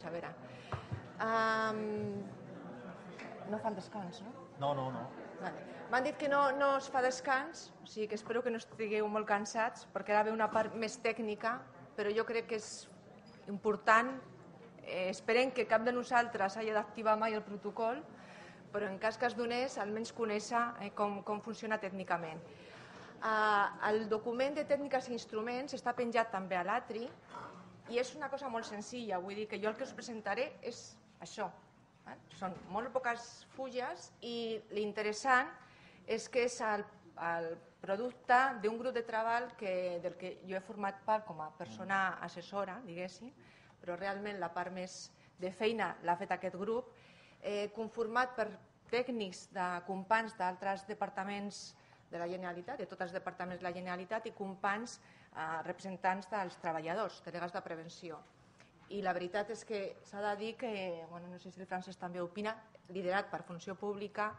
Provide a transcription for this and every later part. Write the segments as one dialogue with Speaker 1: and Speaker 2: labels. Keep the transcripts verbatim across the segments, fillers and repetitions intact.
Speaker 1: A veure, um, no fan descans, no?
Speaker 2: No, no, no.
Speaker 1: Vale. M'han dit que no, no es fa descans, o sigui que espero que no estigueu molt cansats, perquè ara ve una part més tècnica, però jo crec que és important. Eh, esperem que cap de nosaltres hagi d'activar mai el protocol, però en cas que es donés, almenys conèixer eh, com, com funciona tècnicament. Eh, el document de tècniques i instruments està penjat també a l'Atri, i és una cosa molt senzilla, vull dir que jo el que us presentaré és això. Eh? Són molt poques fulles i l'interessant és que és el, el producte d'un grup de treball que, del que jo he format part com a persona assessora, diguéssim, però realment la part més de feina l'ha fet aquest grup, eh, conformat per tècnics de companys d'altres departaments de la Generalitat, de tots els departaments de la Generalitat, i companys eh, representants dels treballadors, delegats de prevenció. I la veritat és que s'ha de dir que, bueno, no sé si el Francesc també opina, liderat per Funció Pública,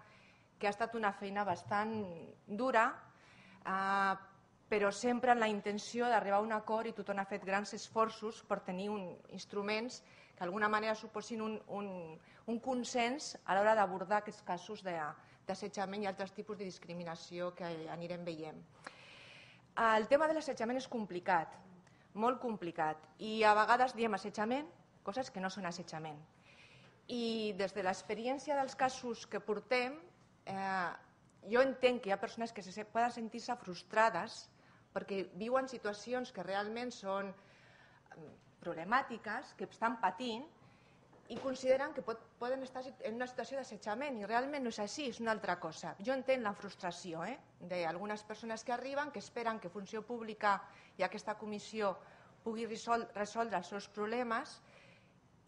Speaker 1: que ha estat una feina bastant dura, eh, però sempre amb la intenció d'arribar a un acord, i tothom ha fet grans esforços per tenir un, instruments que d'alguna manera suposin un, un, un consens a l'hora d'abordar aquests casos de, d'assetjament i altres tipus de discriminació que anirem veient. El tema de l'assetjament és complicat, molt complicat, i a vegades diem assetjament, coses que no són assetjament. I des de l'experiència dels casos que portem, eh, jo entenc que hi ha persones que se poden sentir-se frustrades perquè viuen situacions que realment són problemàtiques, que estan patint, i consideren que pot, poden estar en una situació d'assetjament, i realment no és així, és una altra cosa. Jo entenc la frustració eh, d'algunes persones que arriben, que esperen que Funció Pública i aquesta comissió pugui resol, resoldre els seus problemes,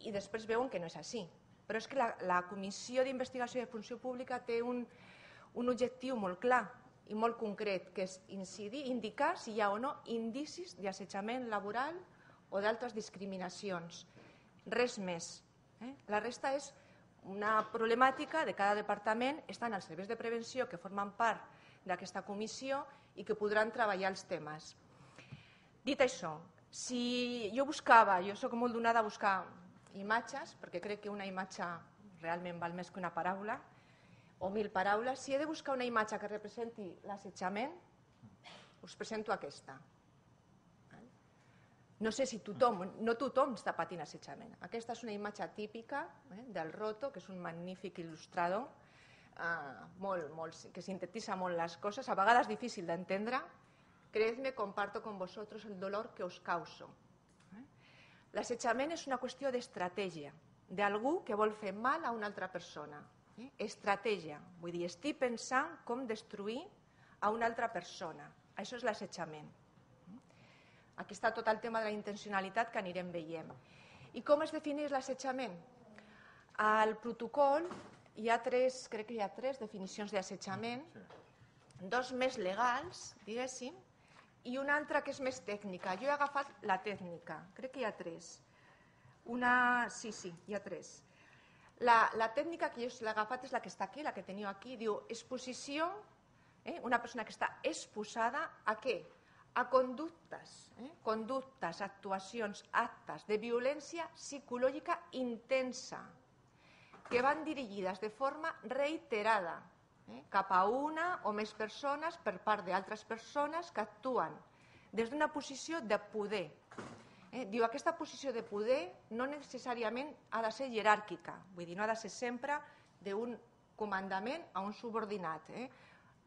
Speaker 1: i després veuen que no és així. Però és que la, la Comissió d'Investigació de Funció Pública té un, un objectiu molt clar i molt concret, que és incidir, indicar si hi ha o no indicis d'assetjament laboral o d'altres discriminacions. Res més. Eh? La resta és una problemàtica de cada departament, estan els serveis de prevenció que formen part d'aquesta comissió i que podran treballar els temes. Dit això, si jo buscava, jo soc molt donada a buscar imatges, perquè crec que una imatge realment val més que una paraula, o mil paraules, si he de buscar una imatge que representi l'assetjament, us presento aquesta. No sé si tothom, no tothom està patint assetjament. Aquesta és una imatge típica eh, del Roto, que és un magnífic il·lustrador, eh, molt, molt, que sintetitza molt les coses, a vegades difícil d'entendre. Creedme, comparto con vosotros el dolor que us causo. Eh? L'assetjament és una qüestió d'estratègia, d'algú que vol fer mal a una altra persona. Eh? Estratègia, vull dir, estic pensant com destruir a una altra persona. Això és l'assetjament. Aquí està tot el tema de la intencionalitat que anirem veient. I com es defineix l'assetjament? Al protocol hi ha tres, crec que hi ha tres definicions d'assetjament, dos més legals, diguéssim, i una altra que és més tècnica. Jo he agafat la tècnica, crec que hi ha tres. Una, sí, sí, hi ha tres. La, la tècnica que jo l'he agafat és la que està aquí, la que teniu aquí, diu exposició, eh, una persona que està exposada a què? A conductes, eh? conductes, actuacions, actes de violència psicològica intensa que van dirigides de forma reiterada eh? cap a una o més persones per part d'altres persones que actuen des d'una posició de poder. Eh? Diu, aquesta posició de poder no necessàriament ha de ser jeràrquica, vull dir, no ha de ser sempre d'un comandament a un subordinat. Eh?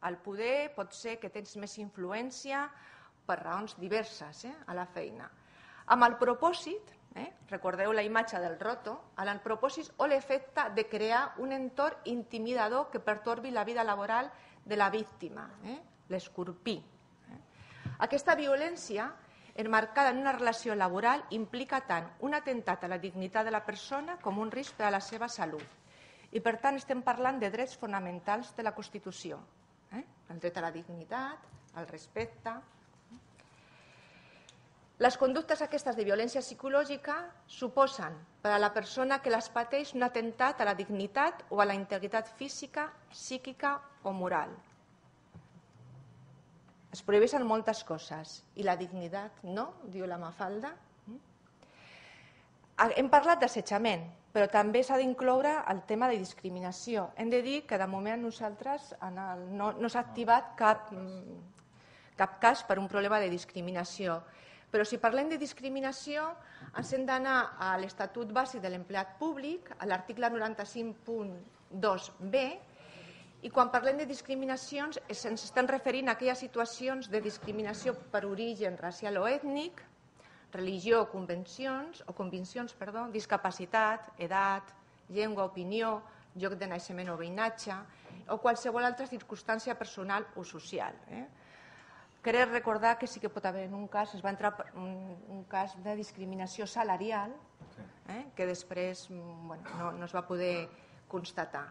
Speaker 1: El poder pot ser que tens més influència per raons diverses eh, a la feina. Amb el propòsit, eh, recordeu la imatge del Roto, amb el propòsit o l'efecte de crear un entorn intimidador que pertorbi la vida laboral de la víctima, eh, l'escorpí. Eh. Aquesta violència, enmarcada en una relació laboral, implica tant un atemptat a la dignitat de la persona com un risc per a la seva salut. I per tant estem parlant de drets fonamentals de la Constitució. Eh? El dret a la dignitat, al respecte. Les conductes aquestes de violència psicològica suposen per a la persona que les pateix un atemptat a la dignitat o a la integritat física, psíquica o moral. Es prohibeixen moltes coses i la dignitat no, diu la Mafalda. Hem parlat d'assetjament, però també s'ha d'incloure el tema de discriminació. Hem de dir que de moment nosaltres no, no s'ha activat cap, cap cas per un problema de discriminació. Però si parlem de discriminació, ens hem d'anar a l'Estatut Bàsic de l'Empleat Públic, a l'article noranta-cinc punt dos b, i quan parlem de discriminacions ens estem referint a aquelles situacions de discriminació per origen racial o ètnic, religió o convencions, o conviccions, perdó, discapacitat, edat, llengua, opinió, lloc de naixement o veïnatge, o qualsevol altra circumstància personal o social. Eh? Crec recordar que sí que pot haver en un cas, es va entrar un, un cas de discriminació salarial, eh? que després bueno, no, no es va poder constatar.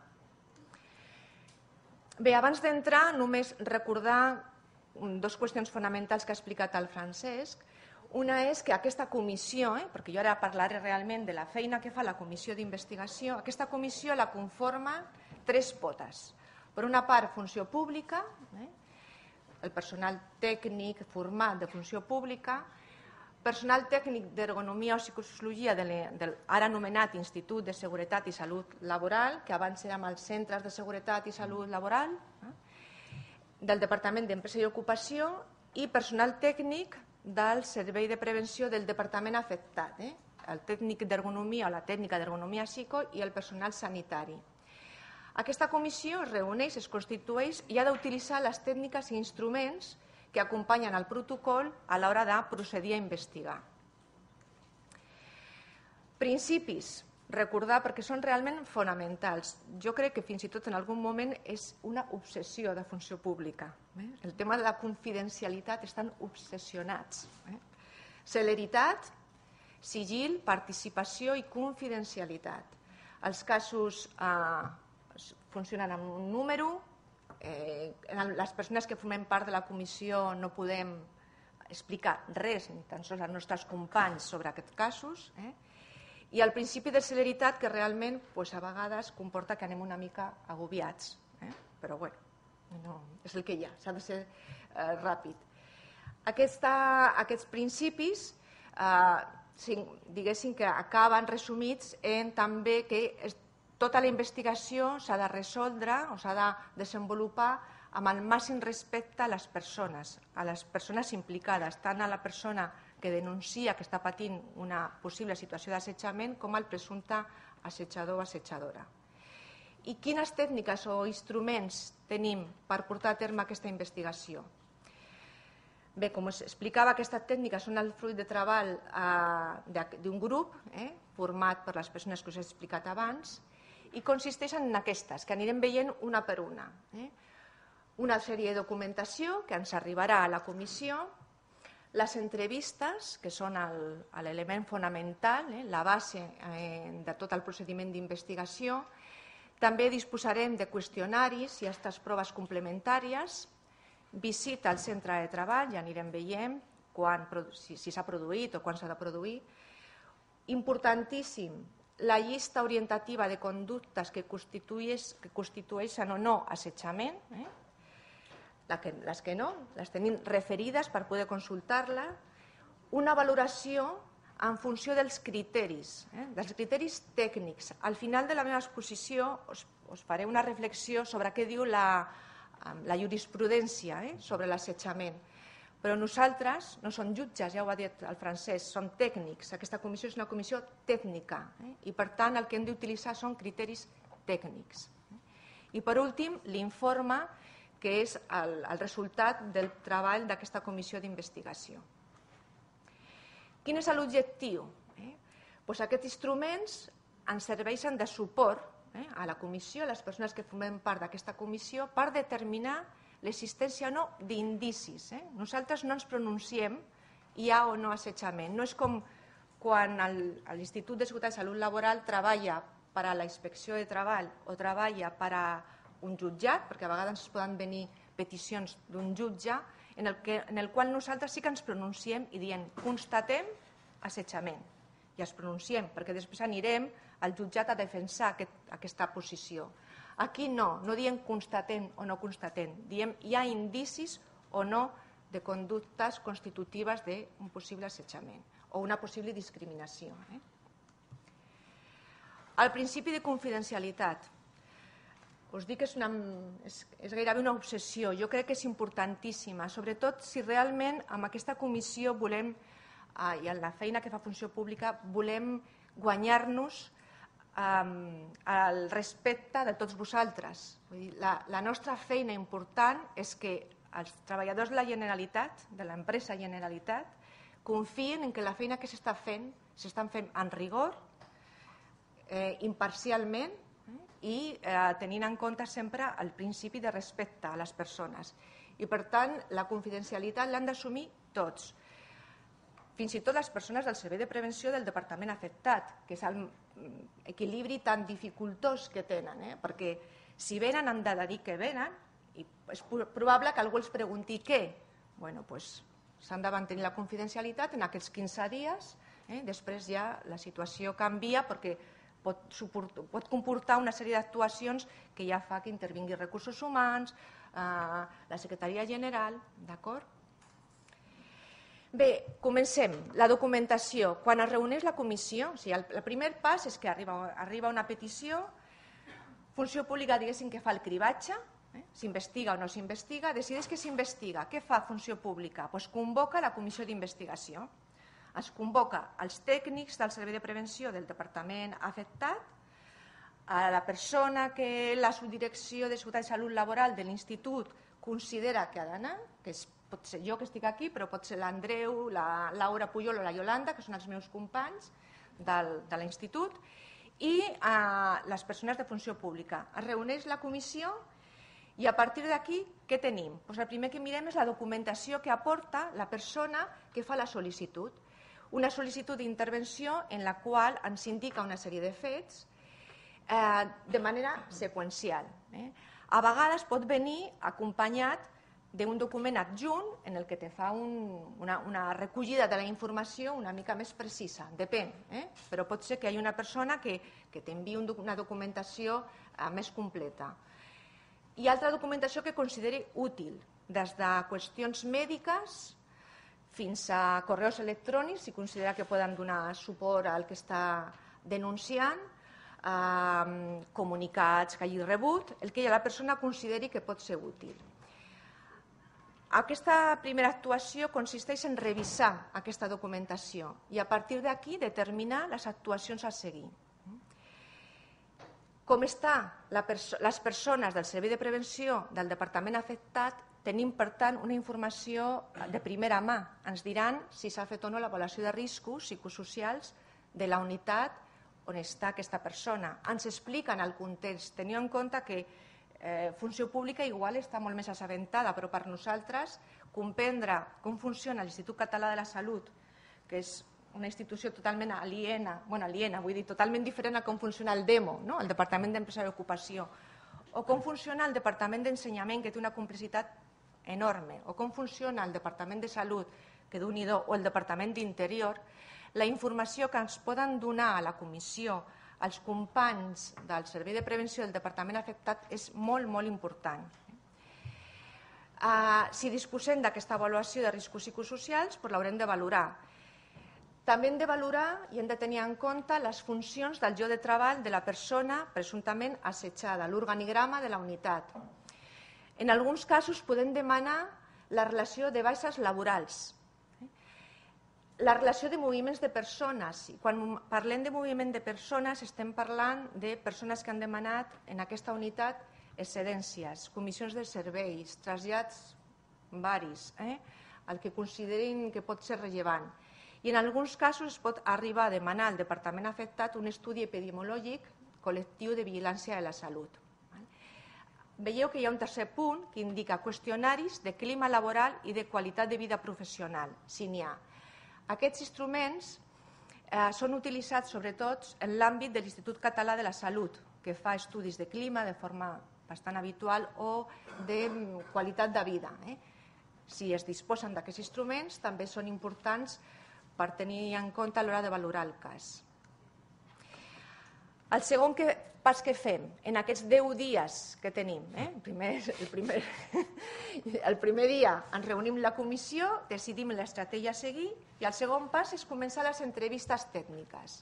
Speaker 1: Bé, abans d'entrar, només recordar dues qüestions fonamentals que ha explicat el Francesc. Una és que aquesta comissió, eh, perquè jo ara parlaré realment de la feina que fa la comissió d'investigació, aquesta comissió la conforma tres potes. Per una part, funció pública, eh, el personal tècnic format de funció pública, personal tècnic d'ergonomia o psicosociologia de l'ara anomenat Institut de Seguretat i Salut Laboral, que abans érem els centres de seguretat i salut laboral, eh, del Departament d'Empresa i Ocupació i personal tècnic del Servei de Prevenció del Departament afectat, eh? el tècnic d'ergonomia o la tècnica d'ergonomia psico i el personal sanitari. Aquesta comissió es reuneix, es constitueix i ha d'utilitzar les tècniques i instruments que acompanyen el protocol a l'hora de procedir a investigar. Principis. Recordar, perquè són realment fonamentals. Jo crec que fins i tot en algun moment és una obsessió de funció pública. Eh? El tema de la confidencialitat estan obsessionats. Eh? Celeritat, sigil, participació i confidencialitat. Els casos eh, funcionen amb un número, eh, les persones que formem part de la comissió no podem explicar res, ni tan sols als nostres companys sobre aquests casos, eh? I el principi de celeritat que realment doncs, a vegades comporta que anem una mica agobiats, eh? però bé, no, és el que hi ha, s'ha de ser eh, ràpid. Aquesta, aquests principis eh, diguéssim que acaben resumits en també que es, tota la investigació s'ha de resoldre o s'ha de desenvolupar amb el màxim respecte a les persones, a les persones implicades, tant a la persona que denuncia que està patint una possible situació d'assetjament com al presumpte assetjador o assetjadora. I quines tècniques o instruments tenim per portar a terme aquesta investigació? Bé, com us explicava, aquestes tècniques són el fruit de treball eh, d'un grup eh, format per les persones que us he explicat abans i consisteixen en aquestes, que anirem veient una per una. Eh? Una sèrie de documentació que ens arribarà a la comissió, les entrevistes, que són l'element fonamental, eh, la base eh, de tot el procediment d'investigació. També disposarem de qüestionaris i aquestes proves complementàries, visita al centre de treball, ja anirem veient quan, si s'ha produït o quan s'ha de produir. Importantíssim, la llista orientativa de conductes que constitueixen o no assetjament, eh? les que no, les tenim referides per poder consultar-la, una valoració en funció dels criteris, eh, dels criteris tècnics. Al final de la meva exposició us, us faré una reflexió sobre què diu la, la jurisprudència eh, sobre l'assetjament. Però nosaltres no som jutges, ja ho ha dit el Francesc, som tècnics. Aquesta comissió és una comissió tècnica eh, i per tant el que hem d'utilitzar són criteris tècnics. I per últim, l'informe que és el, el resultat del treball d'aquesta comissió d'investigació. Quin és l'objectiu? Eh? Pues aquests instruments ens serveixen de suport eh, a la comissió, a les persones que formem part d'aquesta comissió, per determinar l'existència o no d'indicis. Eh? Nosaltres no ens pronunciem hi ha o no assetjament. No és com quan l'Institut de Seguretat i Salut Laboral treballa per a la inspecció de treball o treballa per a un jutjat, perquè a vegades es poden venir peticions d'un jutge, en el, que, en el qual nosaltres sí que ens pronunciem i diem constatem assetjament. I ens pronunciem, perquè després anirem al jutjat a defensar aquest, aquesta posició. Aquí no, no diem constatem o no constatem, diem hi ha indicis o no de conductes constitutives d'un possible assetjament o una possible discriminació. Eh? El principi de confidencialitat. Us dic que és, una, és, és gairebé una obsessió. Jo crec que és importantíssima, sobretot si realment amb aquesta comissió volem, eh, i en la feina que fa Funció Pública, volem guanyar-nos eh, el respecte de tots vosaltres. Vull dir, la, la nostra feina important és que els treballadors de la Generalitat, de l'empresa Generalitat, confien en que la feina que s'està fent s'estan fent en rigor, eh, imparcialment eh, i eh, tenint en compte sempre el principi de respecte a les persones. I per tant, la confidencialitat l'han d'assumir tots. Fins i tot les persones del Servei de Prevenció del departament afectat, que és l'equilibri tan dificultós que tenen, eh? Perquè si venen han de dir que venen i és probable que algú els pregunti què. Bueno, doncs s'han de mantenir la confidencialitat en aquests quinze dies. Eh? Després ja la situació canvia perquè pot, suportar, pot comportar una sèrie d'actuacions que ja fa que intervingui recursos humans, eh, la Secretaria General, d'acord? Bé, comencem. La documentació. Quan es reuneix la comissió, o sigui, el, el primer pas és que arriba, arriba una petició, Funció Pública, diguéssim, que fa el cribatge, eh? S'investiga o no s'investiga, decideix que s'investiga. Què fa Funció Pública? Pues convoca la comissió d'investigació. Es convoca els tècnics del Servei de Prevenció del departament afectat, a la persona que la subdirecció de Seguretat i Salut Laboral de l'Institut considera que ha d'anar, que és, pot ser jo que estic aquí, però pot ser l'Andreu, la Laura Pujol o la Iolanda, que són els meus companys del, de l'Institut, i eh, les persones de Funció Pública. Es reuneix la comissió i a partir d'aquí què tenim? Pues el primer que mirem és la documentació que aporta la persona que fa la sol·licitud. Una sol·licitud d'intervenció en la qual ens indica una sèrie de fets eh, de manera seqüencial. Eh? A vegades pot venir acompanyat d'un document adjunt en el que te fa un, una, una recollida de la informació una mica més precisa, depèn, eh? Però pot ser que hi hagi una persona que, que t'enviï un, una documentació eh, més completa. I altra documentació que consideri útil, des de qüestions mèdiques fins a correus electrònics, si considera que poden donar suport al que està denunciant, eh, comunicats que hagi rebut, el que la persona consideri que pot ser útil. Aquesta primera actuació consisteix en revisar aquesta documentació i a partir d'aquí determinar les actuacions a seguir. Com estan les persones del Servei de Prevenció del departament afectat, tenim, per tant, una informació de primera mà. Ens diran si s'ha fet o no l'avaluació de riscos psicosocials de la unitat on està aquesta persona. Ens expliquen el context. Teniu en compte que eh, Funció Pública igual està molt més assabentada, però per nosaltres comprendre com funciona l'Institut Català de la Salut, que és una institució totalment aliena, bueno, aliena, vull dir, totalment diferent a com funciona el DEMO, no? El Departament d'Empresa i Ocupació, o com funciona el Departament d'Ensenyament, que té una complexitat enorme, o com funciona el Departament de Salut, que Déu-n'hi-do, o el Departament d'Interior, la informació que ens poden donar a la comissió els companys del Servei de Prevenció del departament afectat és molt, molt important. Uh, si disposem d'aquesta avaluació de riscos psicosocials, doncs l'haurem de valorar. També hem de valorar i hem de tenir en compte les funcions del lloc de treball de la persona presumptament assetjada, l'organigrama de la unitat. En alguns casos podem demanar la relació de baixes laborals, la relació de moviments de persones. Quan parlem de moviment de persones estem parlant de persones que han demanat en aquesta unitat excedències, comissions de serveis, trasllats varis, eh? el que considerin que pot ser rellevant. I en alguns casos es pot arribar a demanar al departament afectat un estudi epidemiològic col·lectiu de vigilància de la salut. Veieu que hi ha un tercer punt que indica qüestionaris de clima laboral i de qualitat de vida professional, si n'hi ha. Aquests instruments eh, són utilitzats sobretot en l'àmbit de l'Institut Català de la Salut, que fa estudis de clima de forma bastant habitual o de qualitat de vida. Eh? Si es disposen d'aquests instruments, també són importants per tenir en compte a l'hora de valorar el cas. El segon que, pas que fem en aquests deu dies que tenim, eh? el, primer, el, primer, el primer dia ens reunim la comissió, decidim l'estratègia a seguir i el segon pas és començar les entrevistes tècniques.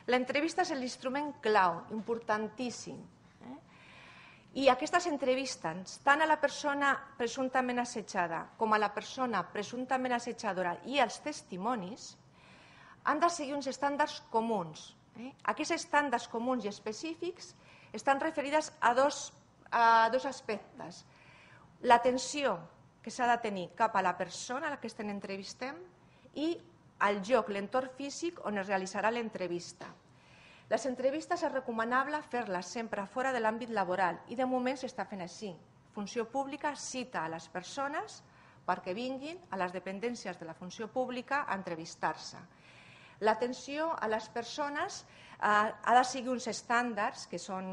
Speaker 1: L'entrevista és l'instrument clau, importantíssim. Eh? I aquestes entrevistes, tant a la persona presumptament assetjada com a la persona presumptament assetjadora i els testimonis, han de seguir uns estàndards comuns. Eh? Aquests estàndards comuns i específics estan referides a dos, a dos aspectes. L'atenció que s'ha de tenir cap a la persona a la que estem entrevistem i el lloc, l'entorn físic on es realitzarà l'entrevista. Les entrevistes és recomanable fer-les sempre fora de l'àmbit laboral i de moment s'està fent així. Funció pública cita a les persones perquè vinguin a les dependències de la funció pública a entrevistar-se. L'atenció a les persones eh, ha de seguir uns estàndards que són,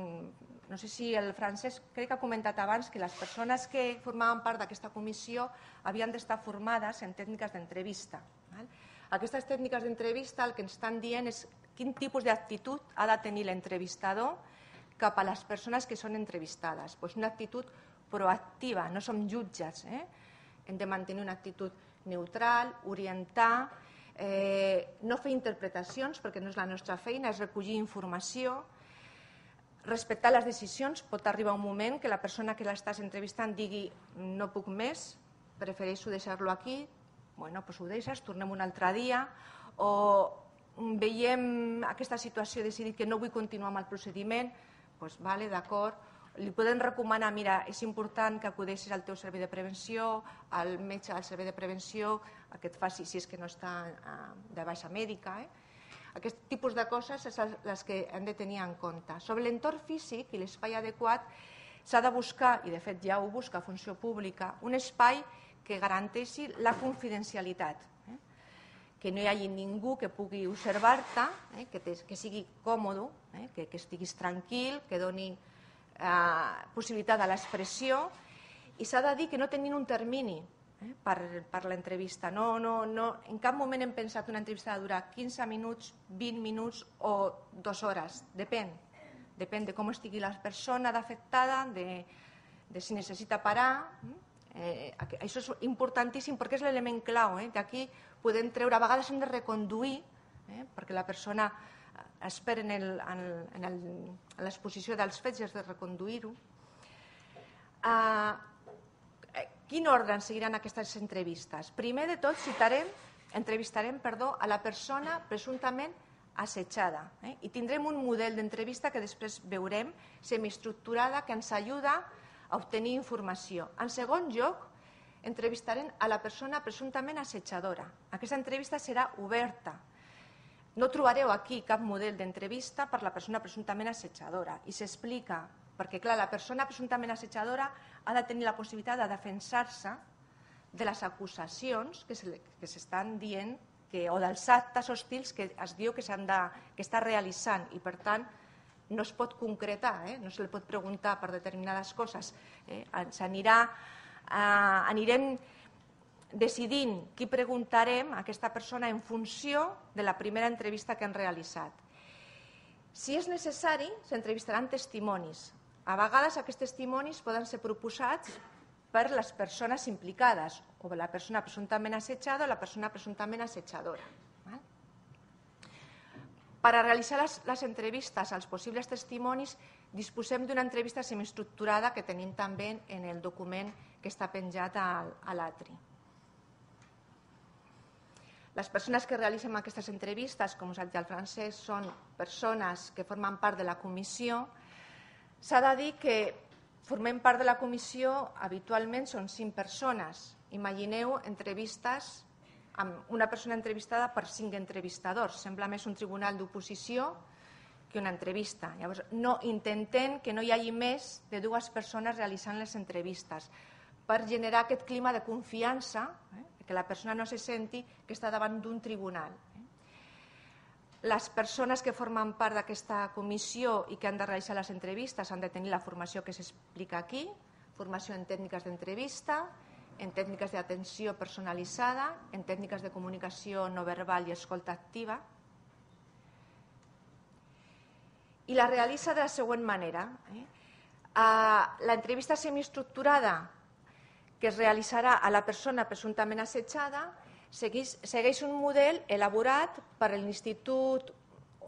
Speaker 1: no sé si el Francesc crec que ha comentat abans que les persones que formaven part d'aquesta comissió havien d'estar formades en tècniques d'entrevista. Aquestes tècniques d'entrevista el que ens estan dient és quin tipus d'actitud ha de tenir l'entrevistador cap a les persones que són entrevistades. Pues una actitud proactiva, no som jutges. Eh? Hem de mantenir una actitud neutral, orientar, eh, no fer interpretacions perquè no és la nostra feina, és recollir informació, respectar les decisions. Pot arribar un moment que la persona que l'estàs entrevistant digui no puc més, prefereixo deixar-lo aquí, bueno, doncs ho deixes, tornem un altre dia, o veiem aquesta situació i decidir que no vull continuar amb el procediment, doncs vale, d'acord, li podem recomanar, mira, és important que acudeixis al teu servei de prevenció, al metge del servei de prevenció, que et faci, si és que no està de baixa mèdica. Eh? Aquest tipus de coses són les que hem de tenir en compte. Sobre l'entorn físic i l'espai adequat s'ha de buscar, i de fet ja ho busca Funció Pública, un espai que garanteixi la confidencialitat, eh? que no hi hagi ningú que pugui observar-te, eh? que, que sigui còmode, eh? que, que estiguis tranquil, que doni eh, possibilitat a l'expressió, i s'ha de dir que no tenint un termini eh? per, per l'entrevista. No, no, no, en cap moment hem pensat una entrevista de durar quinze minuts, vint minuts o dues hores, depèn. Depèn de com estigui la persona afectada, de, de si necessita parar. Eh, això és importantíssim perquè és l'element clau. Eh? D'aquí podem treure, a vegades hem de reconduir, eh? perquè la persona espera en, el, en, el, en l'exposició dels fets i has de reconduir-ho. Eh, quin ordre seguiran aquestes entrevistes? Primer de tot citarem, entrevistarem perdó, a la persona presumptament assetjada eh? i tindrem un model d'entrevista que després veurem, semiestructurada, que ens ajuda a obtenir informació. En segon lloc, entrevistarem a la persona presumptament assetjadora. Aquesta entrevista serà oberta. No trobareu aquí cap model d'entrevista per la persona presumptament assetjadora i s'explica, perquè clar, la persona presumptament assetjadora ha de tenir la possibilitat de defensar-se de les acusacions que s'estan dient que, o dels actes hostils que es diu que s'han de, que està realitzant i per tant no es pot concretar, eh? no se li pot preguntar per determinades coses. Eh? S'anirà, eh, anirem decidint qui preguntarem a aquesta persona en funció de la primera entrevista que hem realitzat. Si és necessari, s'entrevistaran testimonis. A vegades aquests testimonis poden ser proposats per les persones implicades, o la persona presumptament assetjada o la persona presumptament assetjadora. Per a realitzar les, les entrevistes als possibles testimonis disposem d'una entrevista semiestructurada que tenim també en el document que està penjat a, a l'atri. Les persones que realitzen aquestes entrevistes, com us ha dit el Francesc, són persones que formen part de la comissió. S'ha de dir que formem part de la comissió, habitualment són cinc persones. Imagineu entrevistes amb una persona entrevistada per cinc entrevistadors. Sembla més un tribunal d'oposició que una entrevista. Llavors, no intentem que no hi hagi més de dues persones realitzant les entrevistes per generar aquest clima de confiança, eh, que la persona no se senti que està davant d'un tribunal. Les persones que formen part d'aquesta comissió i que han de realitzar les entrevistes han de tenir la formació que s'explica aquí, formació en tècniques d'entrevista, en tècniques d'atenció personalitzada, en tècniques de comunicació no verbal i escolta activa. I la realitza de la següent manera. Eh? L'entrevista semiestructurada que es realitzarà a la persona presumptament assetjada segueix, segueix un model elaborat per l'Institut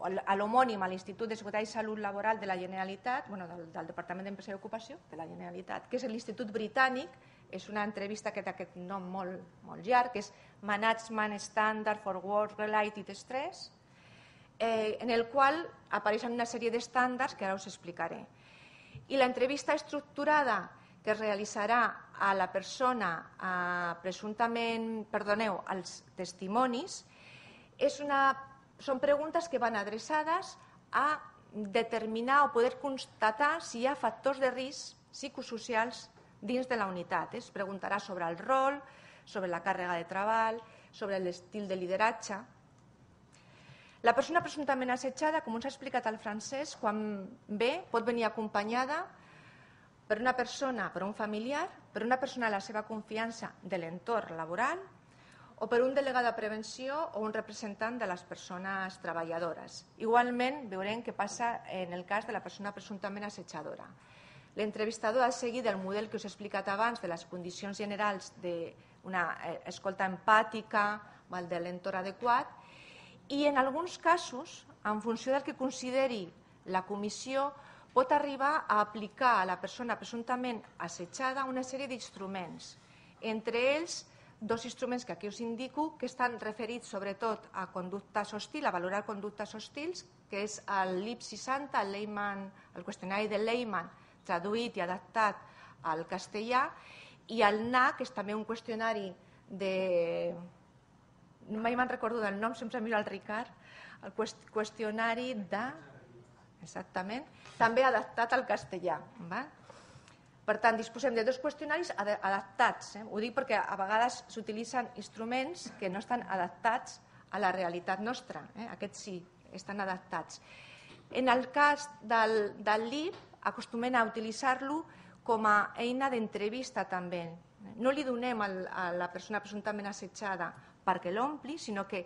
Speaker 1: a l'homònim a l'Institut de Seguretat i Salut Laboral de la Generalitat, bueno, del, del Departament d'Empresa i Ocupació de la Generalitat, que és l'Institut Britànic. És una entrevista que té aquest nom molt, molt llarg, que és Management Standard for Work-Related Stress, eh, en el qual apareixen una sèrie d'estàndards que ara us explicaré. I l'entrevista estructurada que es realitzarà a la persona eh, presumptament, perdoneu, als testimonis, és una, són preguntes que van adreçades a determinar o poder constatar si hi ha factors de risc psicosocials dins de la unitat. Es preguntarà sobre el rol, sobre la càrrega de treball, sobre l'estil de lideratge. La persona presumptament assetjada, com ens ha explicat el Francesc, quan ve pot venir acompanyada per una persona, per un familiar, per una persona de la seva confiança de l'entorn laboral o per un delegat de prevenció o un representant de les persones treballadores. Igualment veurem què passa en el cas de la persona presumptament assetjadora. L'entrevistador ha seguit el model que us he explicat abans de les condicions generals d'una escolta empàtica, de l'entorn adequat, i en alguns casos, en funció del que consideri la comissió, pot arribar a aplicar a la persona presumptament assetjada una sèrie d'instruments. Entre ells, dos instruments que aquí us indico, que estan referits sobretot a conductes hostils, a valorar conductes hostils, que és el L I P seixanta, el, Lehman, el qüestionari de Lehman, traduït i adaptat al castellà, i el N A, que és també un qüestionari de... mai me'n recordo del nom, sempre miro el Ricard, el qüestionari de... exactament, també adaptat al castellà. Per tant, disposem de dos qüestionaris adaptats. Ho dic perquè a vegades s'utilitzen instruments que no estan adaptats a la realitat nostra. Aquests sí, estan adaptats. En el cas del L I P, acostumem a utilitzar-lo com a eina d'entrevista també. No li donem a la persona presumptament assetjada perquè l'ompli, sinó que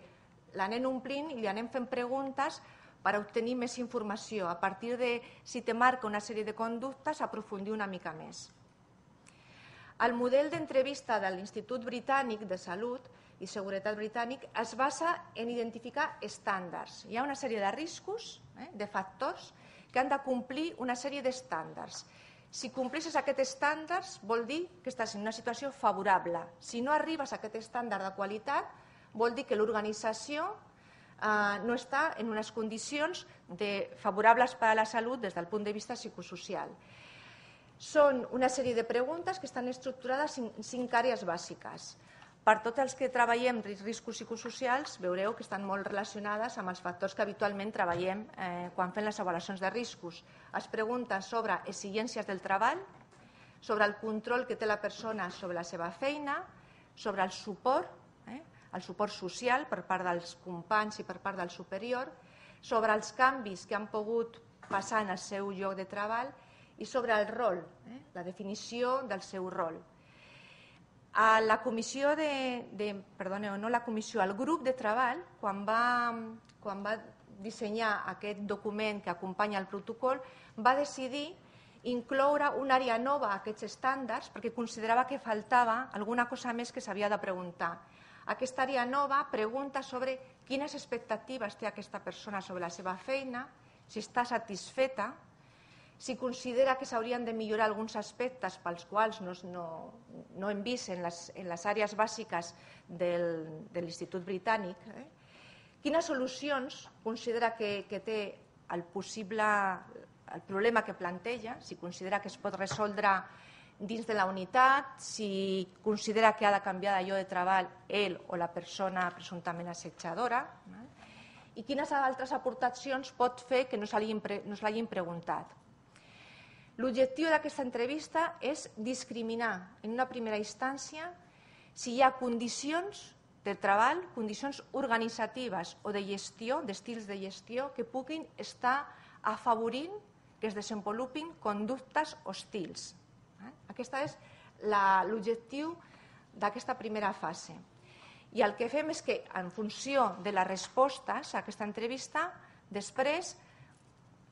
Speaker 1: l'anem omplint i li anem fent preguntes per obtenir més informació. A partir de, si te marca una sèrie de conductes, aprofundir una mica més. El model d'entrevista de l'Institut Britànic de Salut i Seguretat Britànic es basa en identificar estàndards. Hi ha una sèrie de riscos, de factors, que han de complir una sèrie d'estàndards. Si complisses aquests estàndards, vol dir que estàs en una situació favorable. Si no arribes a aquest estàndard de qualitat, vol dir que l'organització no està en unes condicions favorables per a la salut des del punt de vista psicosocial. Són una sèrie de preguntes que estan estructurades en cinc àrees bàsiques. Per tots els que treballem riscos psicosocials, veureu que estan molt relacionades amb els factors que habitualment treballem quan fem les avaluacions de riscos. Es pregunten sobre exigències del treball, sobre el control que té la persona sobre la seva feina, sobre el suport, el suport social per part dels companys i per part del superior, sobre els canvis que han pogut passar en el seu lloc de treball i sobre el rol, la definició del seu rol. A la comissió de, de, perdoneu, no la comissió, el grup de treball, quan va, quan va dissenyar aquest document que acompanya el protocol, va decidir incloure una àrea nova a aquests estàndards perquè considerava que faltava alguna cosa més que s'havia de preguntar. Aquesta àrea nova pregunta sobre quines expectatives té aquesta persona sobre la seva feina, si està satisfeta, si considera que s'haurien de millorar alguns aspectes pels quals no, no, no hem vist en les, en les àrees bàsiques del, de l'Institut Britànic, eh? Quines solucions considera que, que té el possible el problema que planteja, si considera que es pot resoldre dins de la unitat, si considera que ha de canviar de lloc de treball ell o la persona presumptament assetjadora, eh? I quines altres aportacions pot fer que no se l'hagin preguntat. L'objectiu d'aquesta entrevista és discriminar en una primera instància si hi ha condicions de treball, condicions organitzatives o de gestió, d'estils de gestió, que puguin estar afavorint que es desenvolupin conductes hostils. Aquest és l'objectiu d'aquesta primera fase. I el que fem és que, en funció de les respostes a aquesta entrevista, després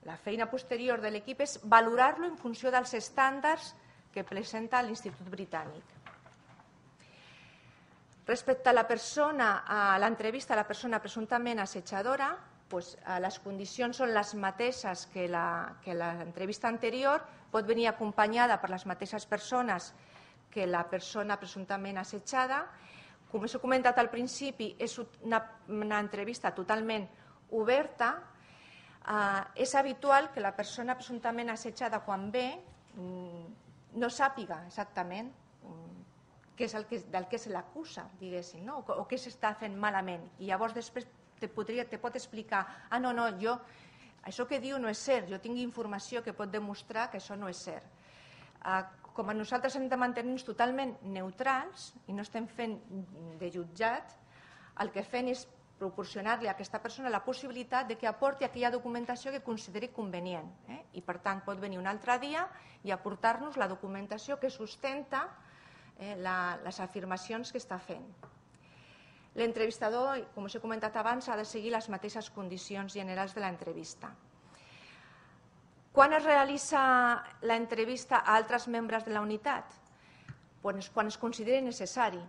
Speaker 1: la feina posterior de l'equip és valorar-lo en funció dels estàndards que presenta l'Institut Britànic. Respecte a la persona, a l'entrevista a la persona presumptament assetjadora, doncs, les condicions són les mateixes que l'entrevista anterior, pot venir acompanyada per les mateixes persones que la persona presumptament assetjada. Com us he comentat al principi, és una, una entrevista totalment oberta. Eh, és habitual que la persona presumptament assetjada, quan ve, no sàpiga exactament què és el que, del que se l'acusa, diguéssim, no? o, o què s'està fent malament. I llavors després te, podria, te pot explicar, ah, no, no, jo, això que diu no és cert, jo tinc informació que pot demostrar que això no és cert. Eh, com a nosaltres hem de mantenir-nos totalment neutrals i no estem fent de jutjat, el que fem és proporcionar-li a aquesta persona la possibilitat de que aporti aquella documentació que consideri convenient. Eh? I, per tant, pot venir un altre dia i aportar-nos la documentació que sustenta eh, la, les afirmacions que està fent. L'entrevistador, com us he comentat abans, ha de seguir les mateixes condicions generals de l'entrevista. Quan es realitza l'entrevista a altres membres de la unitat? Pues quan es consideri necessari.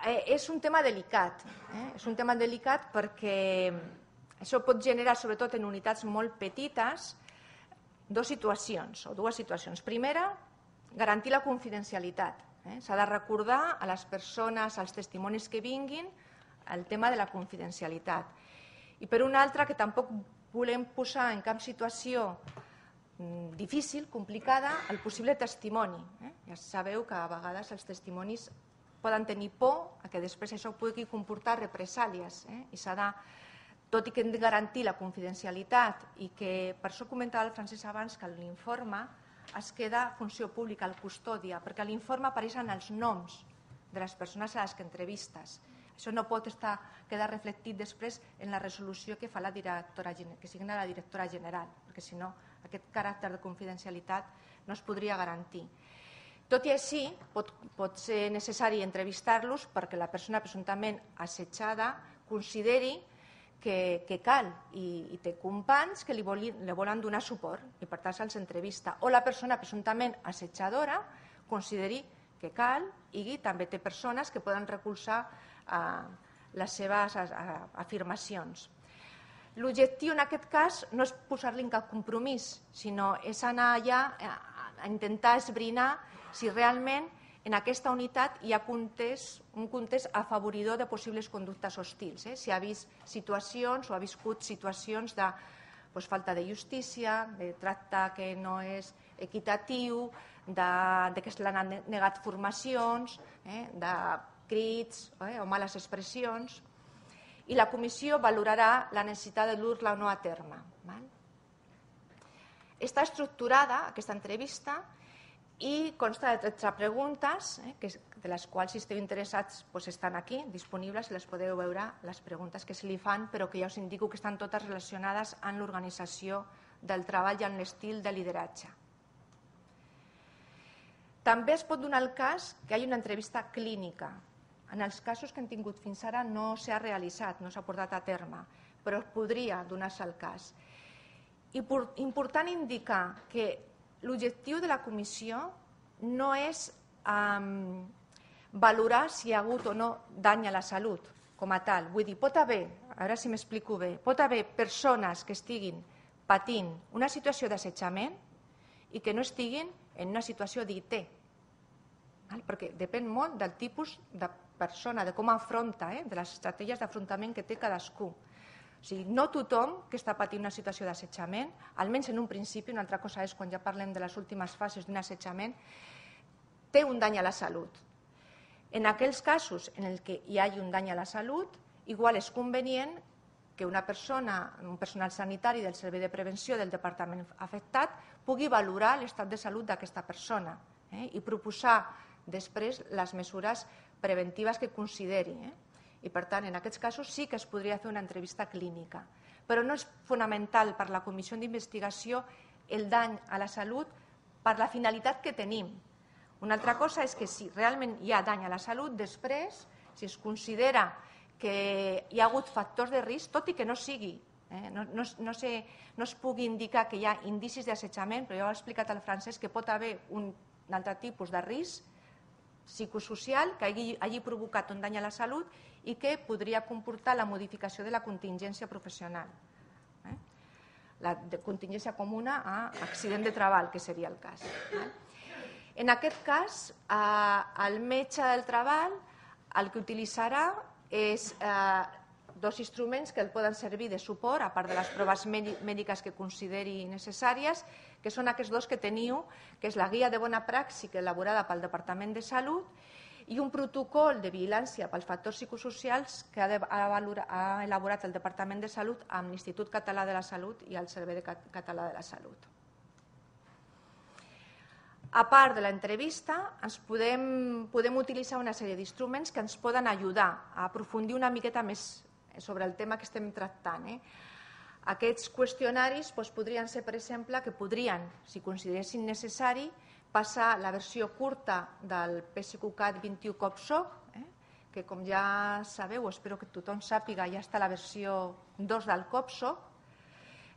Speaker 1: Eh, és un tema delicat, eh? és un tema delicat perquè això pot generar, sobretot en unitats molt petites, dues situacions, o dues situacions. Primera, garantir la confidencialitat. Eh? S'ha de recordar a les persones, als testimonis que vinguin, el tema de la confidencialitat. I per una altra, que tampoc volem posar en cap situació difícil, complicada, el possible testimoni. Eh? Ja sabeu que a vegades els testimonis poden tenir por a que després això pugui comportar represàlies. Eh? I s'ha de, tot i que hem de garantir la confidencialitat i que, per això comentava el Francesc abans, que l'informe es queda funció pública, el custòdia, perquè a l'informe apareixen els noms de les persones a les que entrevistes. Això no pot estar, quedar reflectit després en la resolució que fa la directora, que signa la directora general, perquè si no aquest caràcter de confidencialitat no es podria garantir. Tot i així, pot, pot ser necessari entrevistar-los perquè la persona presumptament assetjada consideri que, que cal i, i té companys que li, voli, li volen donar suport i per tant se'ls entrevista. O la persona presumptament assetjadora consideri que cal i també té persones que poden recolzar eh, les seves eh, afirmacions. L'objectiu en aquest cas no és posar-li en cap compromís, sinó és anar allà a intentar esbrinar si realment en aquesta unitat hi ha context, un context afavoridor de possibles conductes hostils. Eh? Si ha vist situacions o ha viscut situacions de pues, falta de justícia, de tracte que no és equitatiu, de, de que se l'han negat formacions, eh? de crits eh? o males expressions. I la comissió valorarà la necessitat de dur-la o no a terme. Val? Està estructurada aquesta entrevista i consta de tretze preguntes, eh, que, de les quals, si esteu interessats, doncs estan aquí, disponibles, les podeu veure, les preguntes que se li fan, però que ja us indico que estan totes relacionades amb l'organització del treball i amb l'estil de lideratge. També es pot donar el cas que hi hagi una entrevista clínica. En els casos que hem tingut fins ara no s'ha realitzat, no s'ha portat a terme, però podria donar-se el cas. I important indicar que l'objectiu de la comissió no és um, valorar si hi ha hagut o no dany a la salut com a tal. Vull dir, pot haver, a veure si m'explico bé, pot haver persones que estiguin patint una situació d'assetjament i que no estiguin en una situació d'I T. Perquè depèn molt del tipus de persona, de com afronta, eh? de les estratègies d'afrontament que té cadascú. O sigui, no tothom que està patint una situació d'assetjament, almenys en un principi, una altra cosa és quan ja parlem de les últimes fases d'un assetjament, té un dany a la salut. En aquells casos en què hi hagi un dany a la salut, igual és convenient que una persona, un personal sanitari del servei de prevenció del departament afectat pugui valorar l'estat de salut d'aquesta persona eh? i proposar després les mesures preventives que consideri. Eh? I, per tant, en aquests casos sí que es podria fer una entrevista clínica. Però no és fonamental per la comissió d'investigació el dany a la salut per la finalitat que tenim. Una altra cosa és que si realment hi ha dany a la salut, després, si es considera que hi ha hagut factors de risc, tot i que no sigui, eh? no, no, no, sé, no es pugui indicar que hi ha indicis d'assetjament, però ja ho ha explicat el Francesc, que pot haver un altre tipus de risc psicosocial que hagi, hagi provocat un dany a la salut i que podria comportar la modificació de la contingència professional. Eh? La de contingència comuna a accident de treball, que seria el cas. Eh? En aquest cas, eh, el metge del treball el que utilitzarà és eh, dos instruments que el poden servir de suport, a part de les proves mèdiques que consideri necessàries, que són aquests dos que teniu, que és la guia de bona pràctica elaborada pel Departament de Salut i un protocol de vigilància pels factors psicosocials que ha, de, ha, valora, ha elaborat el Departament de Salut amb l'Institut Català de la Salut i el Servei Català de la Salut. A part de l'entrevista, ens podem, podem utilitzar una sèrie d'instruments que ens poden ajudar a aprofundir una miqueta més sobre el tema que estem tractant. Eh? Aquests qüestionaris doncs, podrien ser, per exemple, que podrien, si consideressin necessari, passar la versió curta del PSQCAT vint-i-u COPSOC, eh? que com ja sabeu, espero que tothom sàpiga, ja està la versió dos del COPSOC.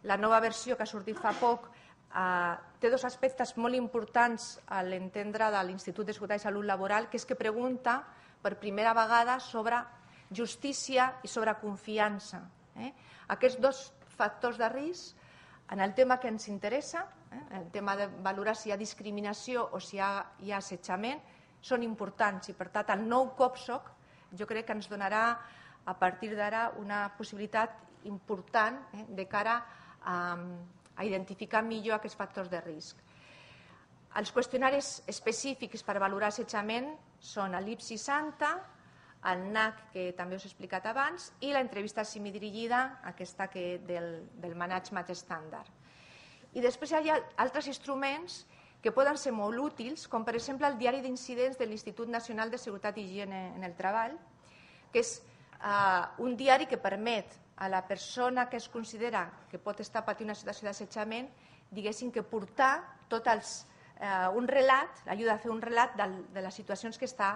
Speaker 1: La nova versió que ha sortit fa poc eh, té dos aspectes molt importants a l'entendre de l'Institut de Seguretat i Salut Laboral, que és que pregunta per primera vegada sobre justícia i sobre confiança. Eh? Aquests dos factors de risc, en el tema que ens interessa, eh? el tema de valorar si hi ha discriminació o si hi ha, hi ha assetjament, són importants i, per tant, el nou COPSOC jo crec que ens donarà, a partir d'ara, una possibilitat important eh? de cara a, a identificar millor aquests factors de risc. Els qüestionaris específics per valorar assetjament són l'I P S I Santa, el N A C, que també us he explicat abans, i l'entrevista semidirigida, aquesta que del, del management estàndard. I després hi ha altres instruments que poden ser molt útils, com per exemple el diari d'incidents de l'Institut Nacional de Seguretat i Higiene en el Treball, que és eh, un diari que permet a la persona que es considera que pot estar patint una situació d'assetjament, diguéssim que portar tot els, eh, un relat, l'ajuda a fer un relat de, de les situacions que està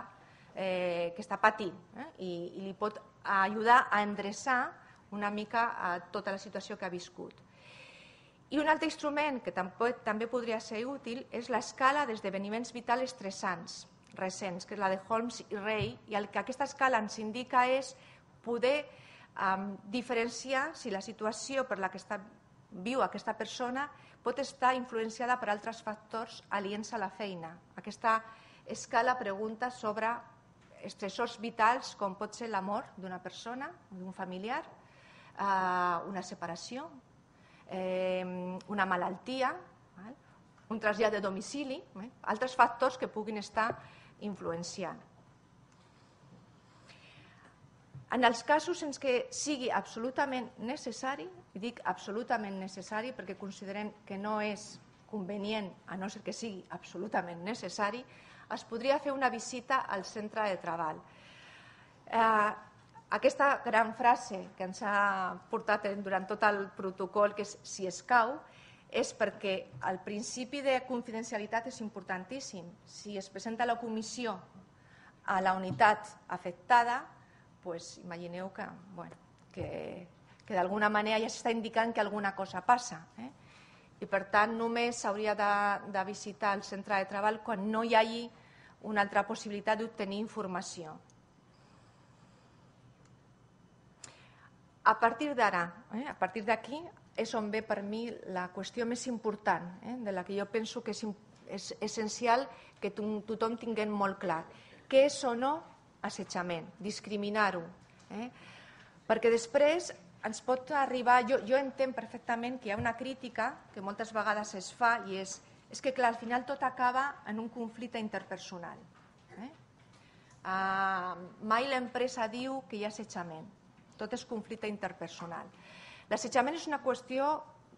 Speaker 1: Eh, que està patint eh? I, i li pot ajudar a endreçar una mica a tota la situació que ha viscut. I un altre instrument que també, també podria ser útil és l'escala d'esdeveniments vitals estressants recents, que és la de Holmes i Ray, i el que aquesta escala ens indica és poder um, diferenciar si la situació per la que està, viu aquesta persona pot estar influenciada per altres factors aliens a la feina. Aquesta escala pregunta sobre estressors vitals com pot ser la mort d'una persona, d'un familiar, eh, una separació, eh, una malaltia, eh, un trasllat de domicili, eh, altres factors que puguin estar influenciant. En els casos en què sigui absolutament necessari, i dic absolutament necessari perquè considerem que no és convenient, a no ser que sigui absolutament necessari, es podria fer una visita al centre de treball. Eh, aquesta gran frase que ens ha portat durant tot el protocol, que és si escau, és perquè el principi de confidencialitat és importantíssim. Si es presenta la comissió a la unitat afectada, pues, imagineu que, bueno, que, que d'alguna manera ja s'està indicant que alguna cosa passa. Eh? I per tant només s'hauria de, de visitar el centre de treball quan no hi hagi una altra possibilitat d'obtenir informació. A partir d'ara, eh, a partir d'aquí, és on ve per mi la qüestió més important, eh, de la que jo penso que és, és essencial que tothom tinguem molt clar. Què és o no assetjament? Discriminar-ho. Eh? Perquè després ens pot arribar... Jo, jo entenc perfectament que hi ha una crítica que moltes vegades es fa i és, és que, clar, al final tot acaba en un conflicte interpersonal. Eh? Uh, mai l'empresa diu que hi ha assetjament. Tot és conflicte interpersonal. L'assetjament és una qüestió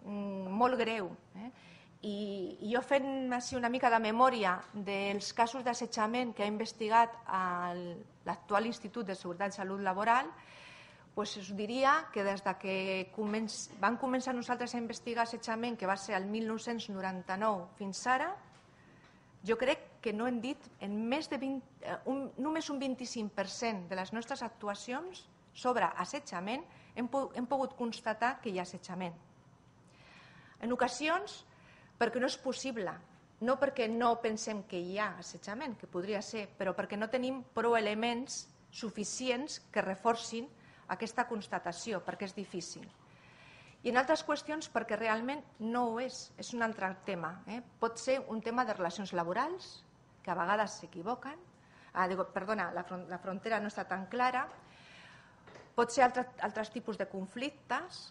Speaker 1: mm, molt greu. Eh? I, I jo fent així una mica de memòria dels casos d'assetjament que ha investigat l'actual Institut de Seguretat i Salut Laboral, pues us diria que des de que començ, vam començar nosaltres a investigar assetjament, que va ser el mil nou-cents noranta-nou fins ara, jo crec que no hem dit en més de vint, un, només un vint-i-cinc per cent de les nostres actuacions sobre assetjament hem, hem pogut constatar que hi ha assetjament. En ocasions, perquè no és possible no perquè no pensem que hi ha assetjament, que podria ser, però perquè no tenim prou elements suficients que reforcin aquesta constatació, perquè és difícil. I en altres qüestions perquè realment no ho és, és un altre tema. Eh? Pot ser un tema de relacions laborals, que a vegades s'equivoquen, ah, digo, perdona, la, front, la frontera no està tan clara, pot ser altre, altres tipus de conflictes,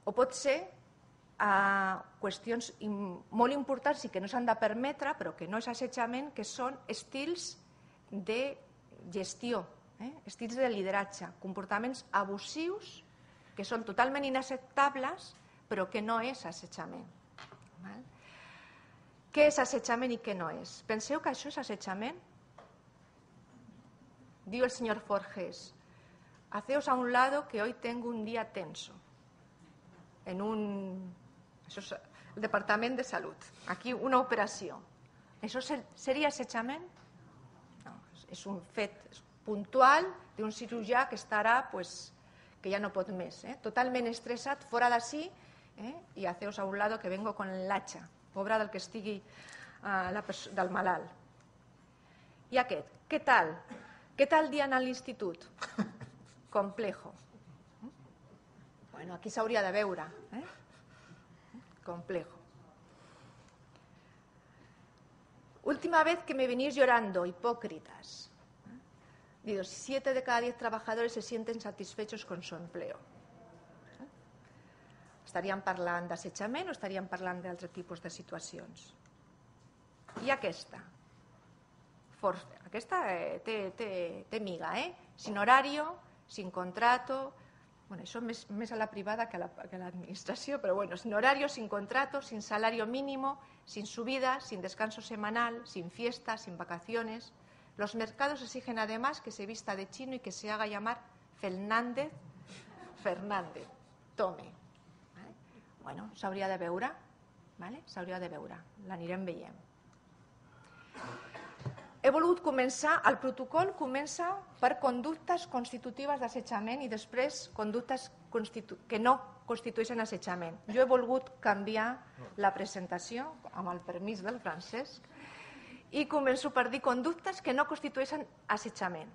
Speaker 1: o pot ser eh, qüestions molt importants i que no s'han de permetre, però que no és assetjament, que són estils de gestió, eh? estils de lideratge, comportaments abusius que són totalment inacceptables, però que no és assetjament. Val? Què és assetjament i què no és? Penseu que això és assetjament? Diu el senyor Forges, haceos a un lado que hoy tengo un día tenso. En un... Això és el Departament de Salut. Aquí una operació. Això seria assetjament? No, és un fet puntual d'un cirurgià que estarà, pues, que ja no pot més. Eh? Totalment estressat, fora d'ací, eh? i haceos a un lado que vengo con l'atxa. Pobre del que estigui uh, la del malalt. I aquest, què tal? Què tal dia a l'institut? Complejo. Bueno, aquí s'hauria de veure. Eh? Complejo. Última vez que me venís llorando, hipócritas. Digo, siete de cada diez trabajadores se sienten satisfechos con su empleo. Estaríem parlant d'assetjament o estaríem parlant d'altres tipus de situacions? I aquesta? Force. Aquesta eh, té, té, té miga, eh? Sin horario, sin contrato... Bueno, això més, més a la privada que a l'administració, però bueno, sin horario, sin contrato, sin salario mínimo, sin subida, sin descanso semanal, sin fiesta, sin vacaciones. Los mercados exigen además que se vista de chino y que se haga llamar Fernández Fernández. Tome. Vale? Bueno, s'hauria de veure, vale? S'hauria de veure, l'anirem veient. He volgut començar, el protocol comença per conductes constitutives d'assetjament i després conductes que no constitueixen assetjament. Jo he volgut canviar la presentació, amb el permís del Francesc, i començo per dir conductes que no constitueixen assetjament.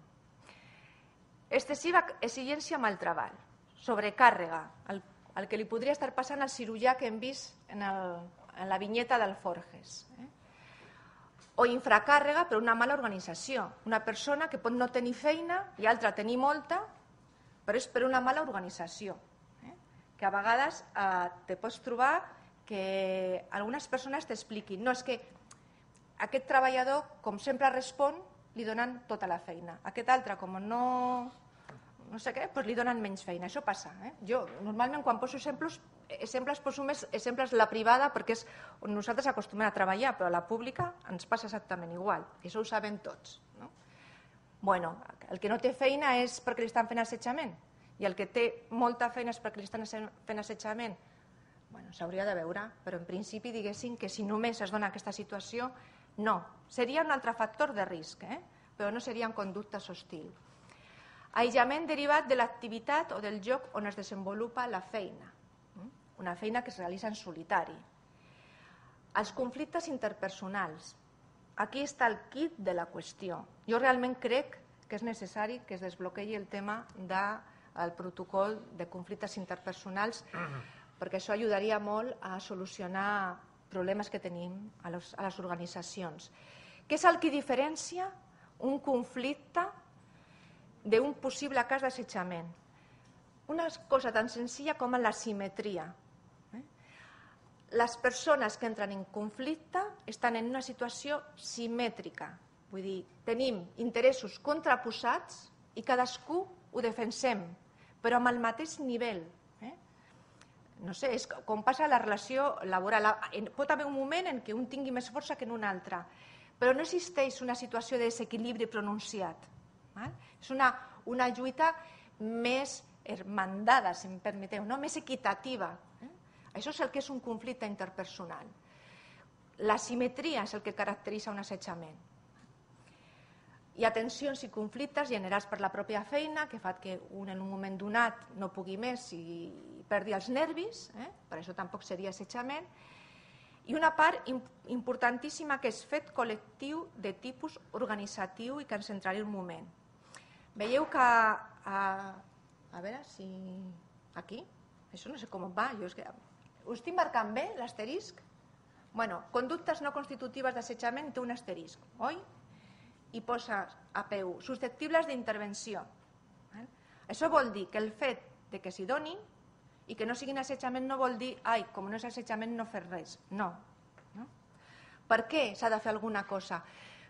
Speaker 1: Excessiva exigència amb el treball, sobrecàrrega, el, el que li podria estar passant al cirurgià que hem vist en, el, en la vinyeta del Forges. Eh? O infracàrrega per una mala organització. Una persona que pot no tenir feina i altra tenir molta, però és per una mala organització. Eh? Que a vegades eh, te pots trobar que algunes persones t'expliquin no, és que aquest treballador, com sempre respon, li donen tota la feina. Aquest altre, com no, no sé què, doncs li donen menys feina. Això passa. Eh? Jo, normalment, quan poso exemples, exemples poso més exemples la privada perquè és on nosaltres acostumem a treballar, però a la pública ens passa exactament igual. I això ho sabem tots. No? Bueno, el que no té feina és perquè li estan fent assetjament i el que té molta feina és perquè li estan fent assetjament. Bueno, s'hauria de veure, però en principi diguéssim que si només es dona aquesta situació, no. Seria un altre factor de risc, eh? Però no serien conductes hostils. Aïllament derivat de l'activitat o del lloc on es desenvolupa la feina. Una feina que es realitza en solitari. Els conflictes interpersonals. Aquí està el kit de la qüestió. Jo realment crec que és necessari que es desbloquegi el tema del protocol de conflictes interpersonals perquè això ajudaria molt a solucionar problemes que tenim a les, a les organitzacions. Què és el que diferencia un conflicte d'un possible cas d'assetjament? Una cosa tan senzilla com la simetria. Les persones que entren en conflicte estan en una situació simètrica. Vull dir, tenim interessos contraposats i cadascú ho defensem, però amb el mateix nivell. Eh? No sé, és com passa la relació laboral. Pot haver un moment en què un tingui més força que en un altre, però no existeix una situació de desequilibri pronunciat. Eh? És una, una lluita més hermandada, si em permeteu, no? Més equitativa. Eh? Això és el que és un conflicte interpersonal. La simetria és el que caracteritza un assetjament. Hi ha tensions i conflictes generats per la pròpia feina que fa que un en un moment donat no pugui més i perdi els nervis, eh? Per això tampoc seria assetjament. i una part importantíssima que és fet col·lectiu de tipus organitzatiu i que ens centraré un moment. Veieu que, a, a veure si aquí, això no sé com va, jo és que, ho estic marcant bé l'asterisc? Bueno, conductes no constitutives d'assetjament té un asterisc, oi? I posa a P u, susceptibles d'intervenció. Això vol dir que el fet de que s'hi donin i que no siguin assetjament no vol dir, ai, com no és assetjament no fer res. No. no? Per què s'ha de fer alguna cosa?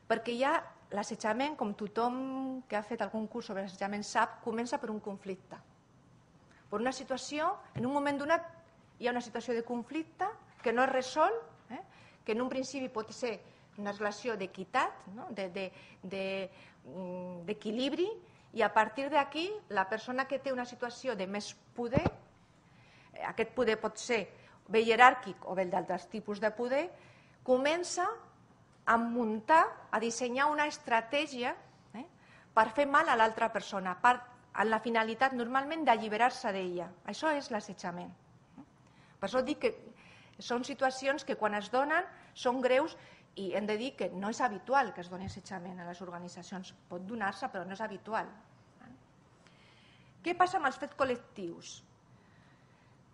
Speaker 1: Perquè ja l'assetjament, com tothom que ha fet algun curs sobre assetjament sap, comença per un conflicte. Per una situació, en un moment donat hi ha una situació de conflicte que no es resol, eh? que en un principi pot ser una relació d'equitat, no? d'equilibri, i a partir d'aquí la persona que té una situació de més poder, aquest poder pot ser bé jeràrquic o bé d'altres tipus de poder, comença a muntar, a dissenyar una estratègia eh, per fer mal a l'altra persona, per, amb la finalitat normalment d'alliberar-se d'ella. Això és l'assetjament. Per això dic que són situacions que quan es donen són greus i hem de dir que no és habitual que es doni assetjament a les organitzacions. Pot donar-se, però no és habitual. Què passa amb els fets col·lectius?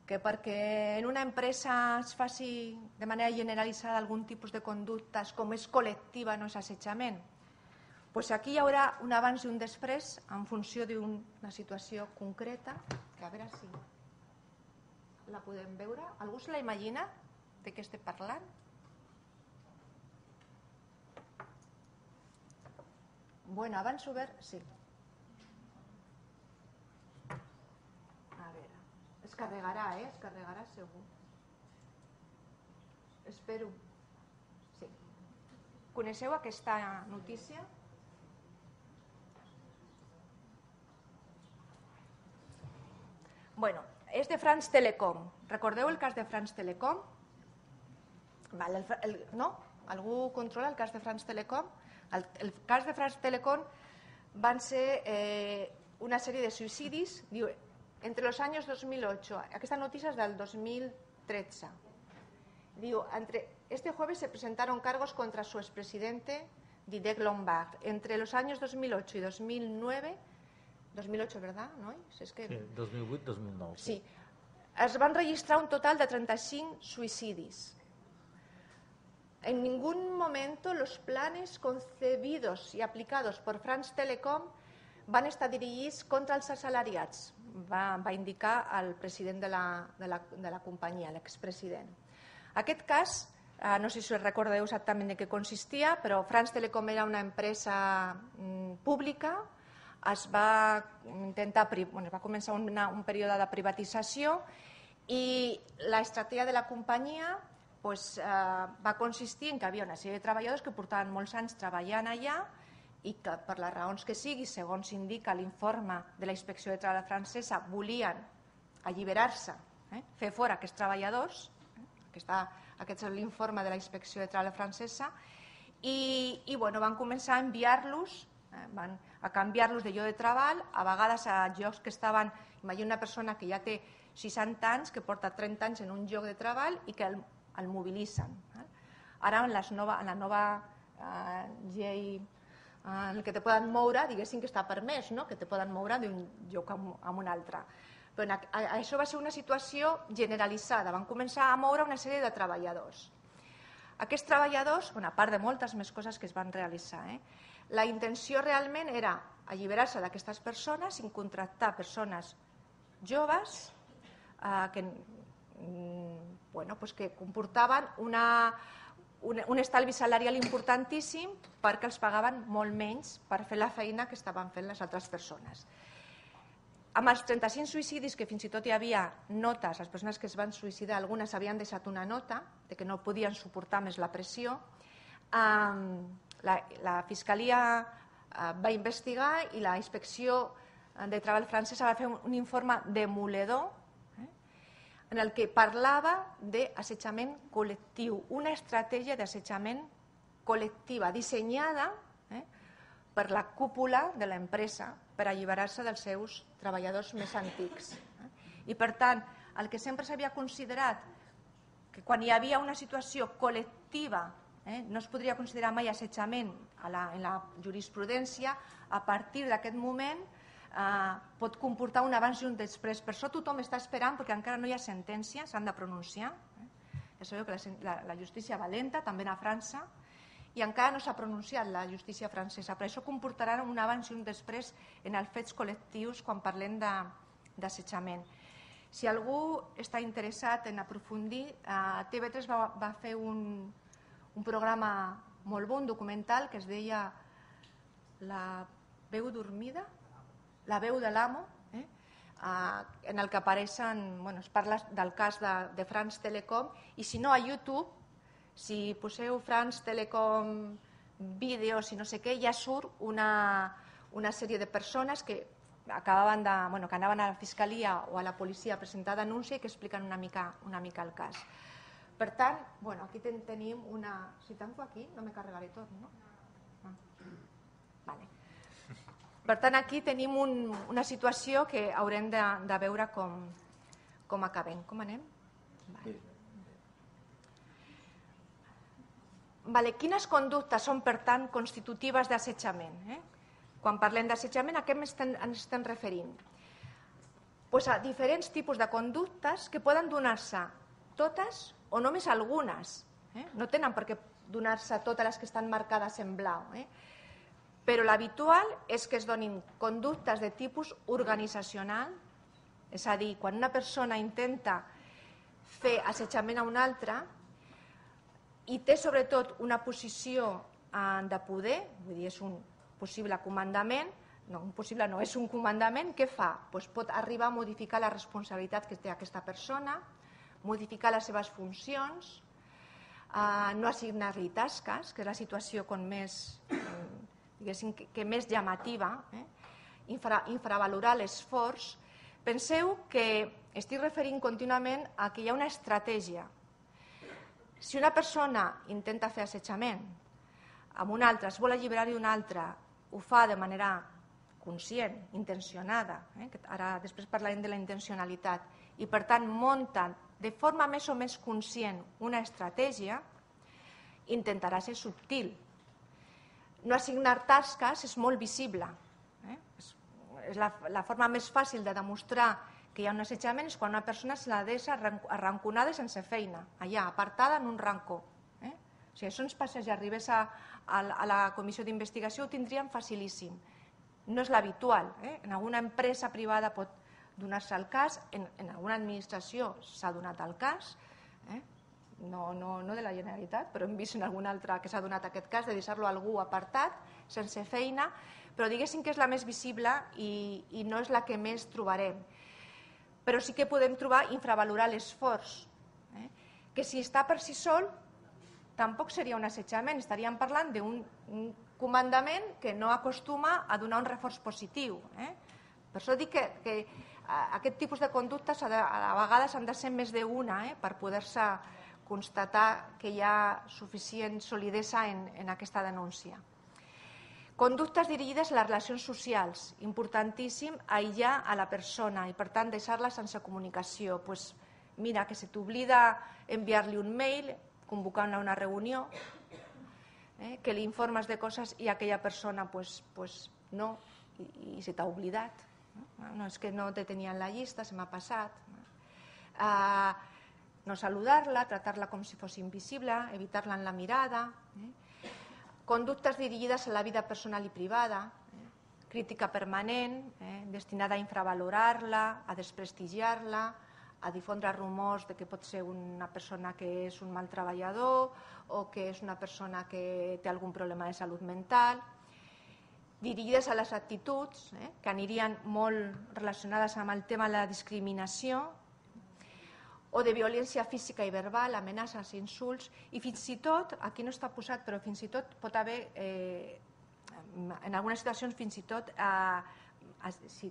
Speaker 1: Que perquè en una empresa es faci de manera generalitzada algun tipus de conductes, com és col·lectiva, no és assetjament? Doncs aquí hi haurà un abans i un després en funció d'una situació concreta, que a veure si la podem veure. Algú se la imagina de què estem parlant? Bueno, abans obert, sí. A veure, es carregarà, eh? Es carregarà segur. Espero. Sí. Coneixeu aquesta notícia? Bueno, és de France Telecom. Recordeu el cas de France Telecom? Val, el, el, no? Algú controla el cas de France Telecom? El, el cas de France Telecom van ser eh, una sèrie de suïcidis, diu, entre los años dos mil ocho, aquesta notícia és del dos mil tretze, diu, entre este jueves se presentaron cargos contra su expresidente Didier Lombard. Entre los años dos mil ocho y dos mil nueve, dos mil ocho, ¿verdad? ¿No? Es que...
Speaker 2: Sí, dos mil vuit dos mil nou.
Speaker 1: Sí. Es van registrar un total de trenta-cinc suïcidis. En ningún momento los planes concebidos y aplicados por France Telecom van estar dirigits contra els assalariats, va, va indicar el president de la, de la, de la companyia, l'expresident. Aquest cas, eh, no sé si us recordeu exactament de què consistia, però France Telecom era una empresa mm, pública, es va intentar, bueno, es va començar una, un període de privatització i l'estratègia de la companyia pues, eh, va consistir en que hi havia una sèrie de treballadors que portaven molts anys treballant allà i que per les raons que sigui, segons indica l'informe de la Inspecció de Treball francesa, volien alliberar-se, eh, fer fora aquests treballadors, eh, aquesta, aquest és l'informe de la Inspecció de Treball francesa, i, i bueno, van començar a enviar-los, eh, van a canviar-los de lloc de treball, a vegades a llocs que estaven, imagina una persona que ja té seixanta anys, que porta trenta anys en un lloc de treball i que el el mobilitzen. Ara en, les nova, en la nova eh, llei eh, en què te poden moure, diguéssim que està permès, no? Que te poden moure d'un lloc a un altre. Però a, a, això va ser una situació generalitzada, van començar a moure una sèrie de treballadors. Aquests treballadors, bueno, a part de moltes més coses que es van realitzar, eh, la intenció realment era alliberar-se d'aquestes persones i contractar persones joves eh, que Bueno, pues que comportaven una, un, un estalvi salarial importantíssim perquè els pagaven molt menys per fer la feina que estaven fent les altres persones. Amb els trenta-cinc suïcidis, que fins i tot hi havia notes, les persones que es van suïcidar, algunes havien deixat una nota de que no podien suportar més la pressió, eh, la, la Fiscalia eh, va investigar i la Inspecció de Treball francesa va fer un, un informe demoledor en el que parlava d'assetjament col·lectiu, una estratègia d'assetjament col·lectiva dissenyada eh, per la cúpula de l'empresa per alliberar-se dels seus treballadors més antics. I per tant, el que sempre s'havia considerat que quan hi havia una situació col·lectiva, eh, no es podria considerar mai assetjament a la, en la jurisprudència, a partir d'aquest moment eh, pot comportar un abans i un després. Per això tothom està esperant, perquè encara no hi ha sentència, s'han de pronunciar. Eh? Ja sabeu que la, la, la justícia va lenta, també a França, i encara no s'ha pronunciat la justícia francesa. Per això comportarà un abans i un després en els fets col·lectius quan parlem d'assetjament. Si algú està interessat en aprofundir, eh, T V tres va, va fer un, un programa molt bon, documental, que es deia La veu dormida, la veu de l'amo, eh? eh, en el que apareixen, bueno, es parla del cas de, de France Telecom, i si no a YouTube, si poseu France Telecom vídeos i no sé què, ja surt una, una sèrie de persones que acabaven de, bueno, que anaven a la fiscalia o a la policia a presentar denúncia i que expliquen una mica, una mica el cas. Per tant, bueno, aquí ten, tenim una... Si tanco aquí, no me carregaré tot, no? Ah. Vale. Per tant, aquí tenim un, una situació que haurem de, de veure com, com acabem. Com anem? Vale. Vale. Quines conductes són, per tant, constitutives d'assetjament? Eh? Quan parlem d'assetjament, a què ens estem referint? Pues a diferents tipus de conductes que poden donar-se totes o només algunes. Eh? No tenen per què donar-se totes les que estan marcades en blau. Eh? Però l'habitual és que es donin conductes de tipus organitzacional, és a dir, quan una persona intenta fer assetjament a una altra i té sobretot una posició de poder, vull dir, és un possible comandament, no, un possible no, és un comandament, què fa? Pues pot arribar a modificar la responsabilitat que té aquesta persona, modificar les seves funcions, eh, no assignar-li tasques, que és la situació com més, diguéssim, que, que més llamativa, eh? Infra, infravalorar l'esforç. Penseu que estic referint contínuament a que hi ha una estratègia. Si una persona intenta fer assetjament amb una altra, es vol alliberar d'una altra, ho fa de manera conscient, intencionada, eh? Ara després parlarem de la intencionalitat, i per tant munten de forma més o més conscient una estratègia, intentarà ser subtil. No assignar tasques és molt visible. Eh? És la, la forma més fàcil de demostrar que hi ha un assetjament és quan una persona se la deixa arranconada i sense feina, allà, apartada en un rancó. Eh? O sigui, això ens passa, si arribés a, a, a la comissió d'investigació, ho tindríem facilíssim. No és l'habitual. Eh? En alguna empresa privada pot donar-se el cas, en, en alguna administració s'ha donat el cas, eh? no, no, no de la Generalitat, però hem vist en algun altre que s'ha donat aquest cas de deixar-lo a algú apartat, sense feina, però diguéssim que és la més visible i, i no és la que més trobarem. Però sí que podem trobar infravalorar l'esforç, eh? que si està per si sol tampoc seria un assetjament, estaríem parlant d'un comandament que no acostuma a donar un reforç positiu. Eh? Per això dic que, que aquest tipus de conductes a, de, a vegades han de ser més d'una eh? per poder-se constatar que hi ha suficient solidesa en, en aquesta denúncia. Conductes dirigides a les relacions socials, importantíssim aïllar a la persona i per tant deixar-la sense comunicació. Pues, mira, que se t'oblida enviar-li un mail, convocar una reunió, eh, que li informes de coses i aquella persona pues, pues, no, i, i se t'ha oblidat. No? No, és que no te tenia en la llista, se m'ha passat. Uh, no saludar-la, tratar-la com si fos invisible, evitar-la en la mirada. Eh? Conductes dirigides a la vida personal i privada, eh? crítica permanent, eh? destinada a infravalorar-la, a desprestigiar-la, a difondre rumors de que pot ser una persona que és un mal treballador o que és una persona que té algun problema de salut mental, dirigides a les actituds, eh? que anirien molt relacionades amb el tema de la discriminació, o de violència física i verbal, amenaces, insults, i fins i tot, aquí no està posat, però fins i tot pot haver, eh, en algunes situacions fins i tot, eh,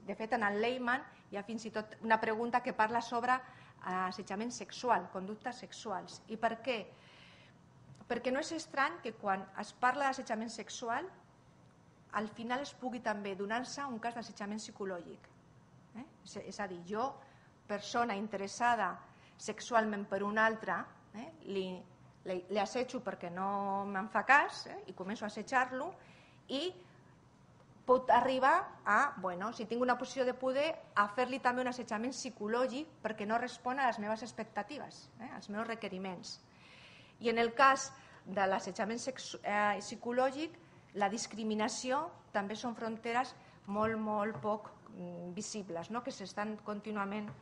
Speaker 1: de fet en el Lehman hi ha fins i tot una pregunta que parla sobre assetjament sexual, conductes sexuals. I per què? Perquè no és estrany que quan es parla d'assetjament sexual al final es pugui també donar-se un cas d'assetjament psicològic. Eh? És a dir, jo, persona interessada sexualment per un altre, eh? li, li, li assetjo perquè no me'n fa cas eh? i començo a assetjar-lo i pot arribar a, bueno, si tinc una posició de poder, a fer-li també un assetjament psicològic perquè no respon a les meves expectatives, eh? als meus requeriments. I en el cas de l'assetjament eh, psicològic, la discriminació també són fronteres molt, molt poc mm, visibles, no? que s'estan contínuament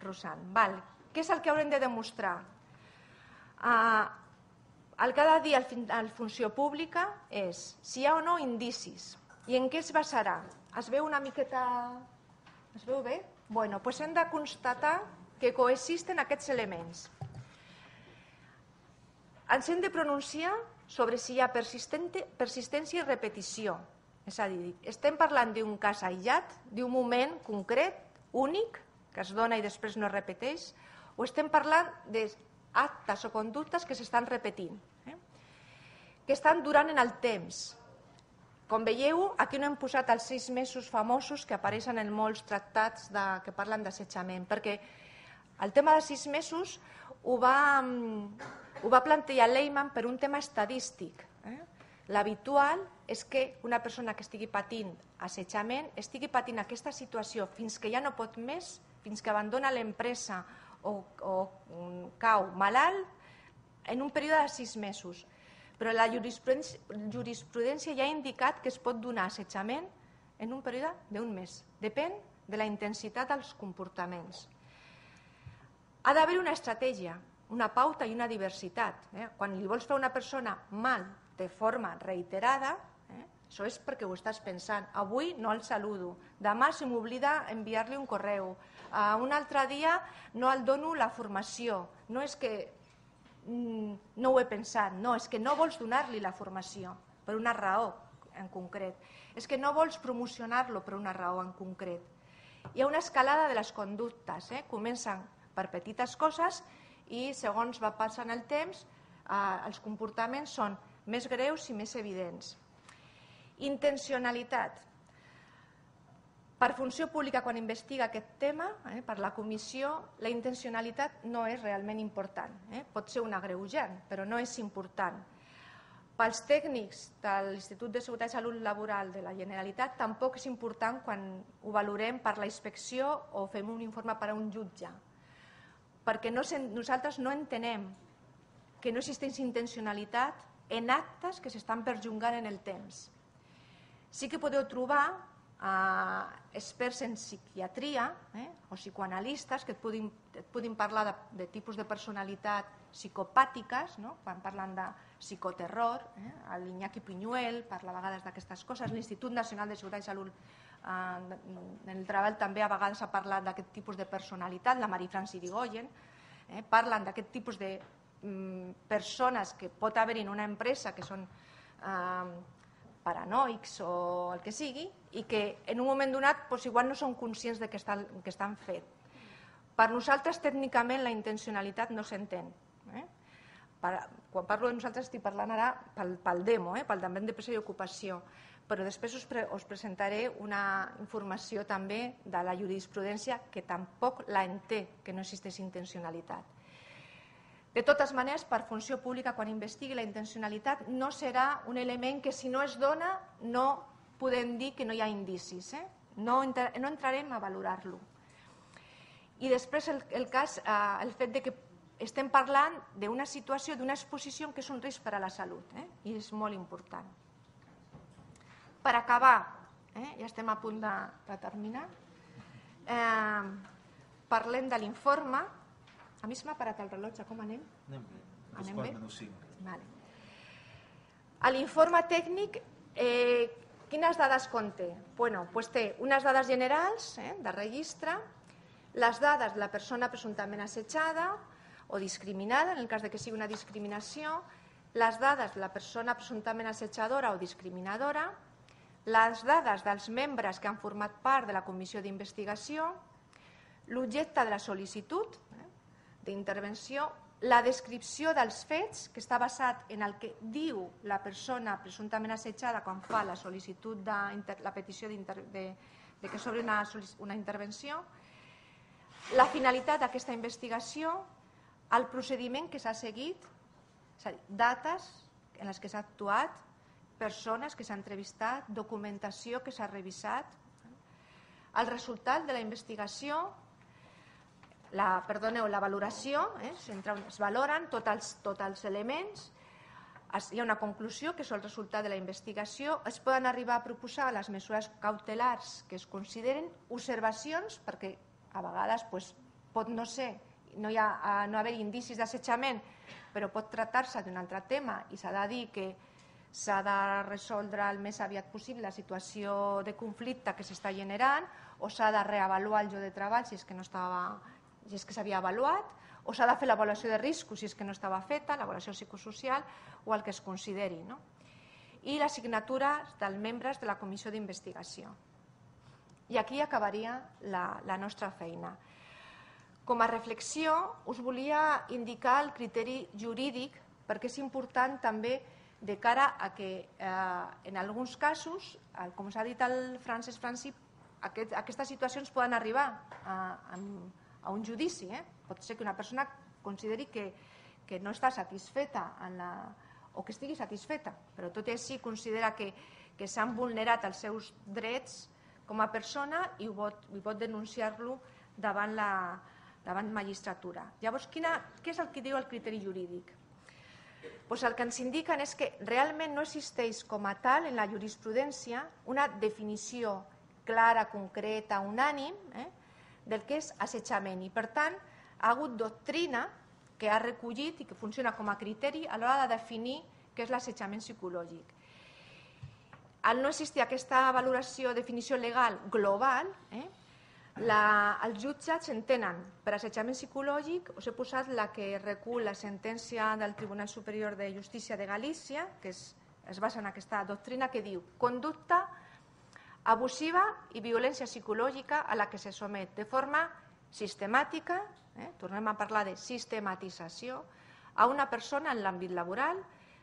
Speaker 1: rossant. Val. Què és el que haurem de demostrar? Uh, el que ha de dir el, el funció pública és si hi ha o no indicis. I en què es basarà? Es veu una miqueta... Es veu bé? Bueno, doncs hem de constatar que coexisten aquests elements. Ens hem de pronunciar sobre si hi ha persistència i repetició. És a dir, estem parlant d'un cas aïllat, d'un moment concret, únic, que es dona i després no es repeteix, o estem parlant d'actes o conductes que s'estan repetint, eh? que estan durant en el temps. Com veieu, aquí no hem posat els sis mesos famosos que apareixen en molts tractats de, que parlen d'assetjament, perquè el tema de sis mesos ho va, ho va plantejar Lehmann per un tema estadístic. Eh? L'habitual és que una persona que estigui patint assetjament estigui patint aquesta situació fins que ja no pot més, fins que abandona l'empresa o, o cau malalt en un període de sis mesos. Però la jurisprudència, jurisprudència ja ha indicat que es pot donar assetjament en un període d'un mes. Depèn de la intensitat dels comportaments. Ha d'haver una estratègia, una pauta i una diversitat. Eh? Quan li vols fer a una persona mal de forma reiterada, eh? això és perquè ho estàs pensant. Avui no el saludo, demà se m'oblida enviar-li un correu, uh, un altre dia no el dono la formació. No és que no ho he pensat, no, és que no vols donar-li la formació per una raó en concret, és que no vols promocionar-lo per una raó en concret. Hi ha una escalada de les conductes, eh? comencen per petites coses i segons va passant el temps eh, els comportaments són més greus i més evidents. Intencionalitat. Per funció pública, quan investiga aquest tema, eh, per la comissió, la intencionalitat no és realment important. Eh? Pot ser un agreujant, però no és important. Pels tècnics de l'Institut de Seguretat i Salut Laboral de la Generalitat tampoc és important quan ho valorem per la inspecció o fem un informe per a un jutge, perquè no, nosaltres no entenem que no existeix intencionalitat en actes que s'estan perllongant en el temps. Sí que podeu trobar Uh, experts en psiquiatria eh, o psicoanalistes que et puguin, et puguin parlar de, de tipus de personalitat psicopàtiques, no? Quan parlen de psicoterror, eh? l'Iñaki Piñuel parla a vegades d'aquestes coses, l'Institut Nacional de Seguretat i Salut uh, en el treball també a vegades ha parlat d'aquest tipus de personalitat, la Marie-France Irigoyen, eh? parlen d'aquest tipus de um, persones que pot haver en una empresa que són uh, paranoics o el que sigui, i que en un moment donat doncs, igual no són conscients de que estan, que estan fet. Per nosaltres, tècnicament, la intencionalitat no s'entén. Eh? Quan parlo de nosaltres estic parlant ara pel, pel demo, eh? pel Departament de Presa i Ocupació, però després us, pre, us presentaré una informació també de la jurisprudència que tampoc la entén, que no existeix intencionalitat. De totes maneres, per funció pública, quan investigui la intencionalitat, no serà un element que si no es dona no podem dir que no hi ha indicis. Eh? No, no entrarem a valorar-lo. I després el, el cas, eh, el fet de que estem parlant d'una situació, d'una exposició que és un risc per a la salut, eh? i és molt important. Per acabar, eh? ja estem a punt de, de terminar, eh, parlem de l'informe. A mi se m'ha parat el rellotge, com anem?
Speaker 2: Anem bé,
Speaker 1: anem
Speaker 2: bé? Menys cinc.
Speaker 1: Vale. A l'informe tècnic, eh, quines dades conté? Bueno, pues té unes dades generals eh, de registre, les dades de la persona presumptament assetjada o discriminada, en el cas de que sigui una discriminació, les dades de la persona presumptament assetjadora o discriminadora, les dades dels membres que han format part de la comissió d'investigació, l'objecte de la sol·licitud d'intervenció, la descripció dels fets, que està basat en el que diu la persona presumptament assetjada quan fa la sol·licitud de la petició de, de que s'obri una, una intervenció, la finalitat d'aquesta investigació, el procediment que s'ha seguit, és a dir, dates en les que s'ha actuat, persones que s'han entrevistat, documentació que s'ha revisat, el resultat de la investigació, la, perdoneu, la valoració, eh, es valoren tots els, tots els elements, es, hi ha una conclusió que és el resultat de la investigació, es poden arribar a proposar les mesures cautelars que es consideren, observacions, perquè a vegades pues, pot no ser, no hi ha no haver indicis d'assetjament, però pot tractar-se d'un altre tema i s'ha de dir que s'ha de resoldre el més aviat possible la situació de conflicte que s'està generant, o s'ha de reavaluar el lloc de treball si és que no estava, si és que s'havia avaluat, o s'ha de fer l'avaluació de riscos si és que no estava feta, l'avaluació psicosocial o el que es consideri. No? I la signatura dels membres de la comissió d'investigació. I aquí acabaria la, la nostra feina. Com a reflexió, us volia indicar el criteri jurídic perquè és important també de cara a que eh, en alguns casos, com s'ha dit el Francesc Franci, aquest, aquestes situacions poden arribar a, a, a un judici. Eh? Pot ser que una persona consideri que, que no està satisfeta en la, o que estigui satisfeta, però tot i així considera que, que s'han vulnerat els seus drets com a persona i pot, i pot denunciar-lo davant la davant magistratura. Llavors, quina, què és el que diu el criteri jurídic? Pues el que ens indiquen és que realment no existeix com a tal en la jurisprudència una definició clara, concreta, unànim eh, del que és assetjament i per tant ha hagut doctrina que ha recollit i que funciona com a criteri a l'hora de definir què és l'assetjament psicològic. Al no existir aquesta valoració, definició legal global, eh, La, els jutjats entenen per assetjament psicològic, us he posat la que recull la sentència del Tribunal Superior de Justícia de Galícia, que es, es basa en aquesta doctrina que diu conducta abusiva i violència psicològica a la que se somet de forma sistemàtica, eh, tornem a parlar de sistematització, a una persona en l'àmbit laboral,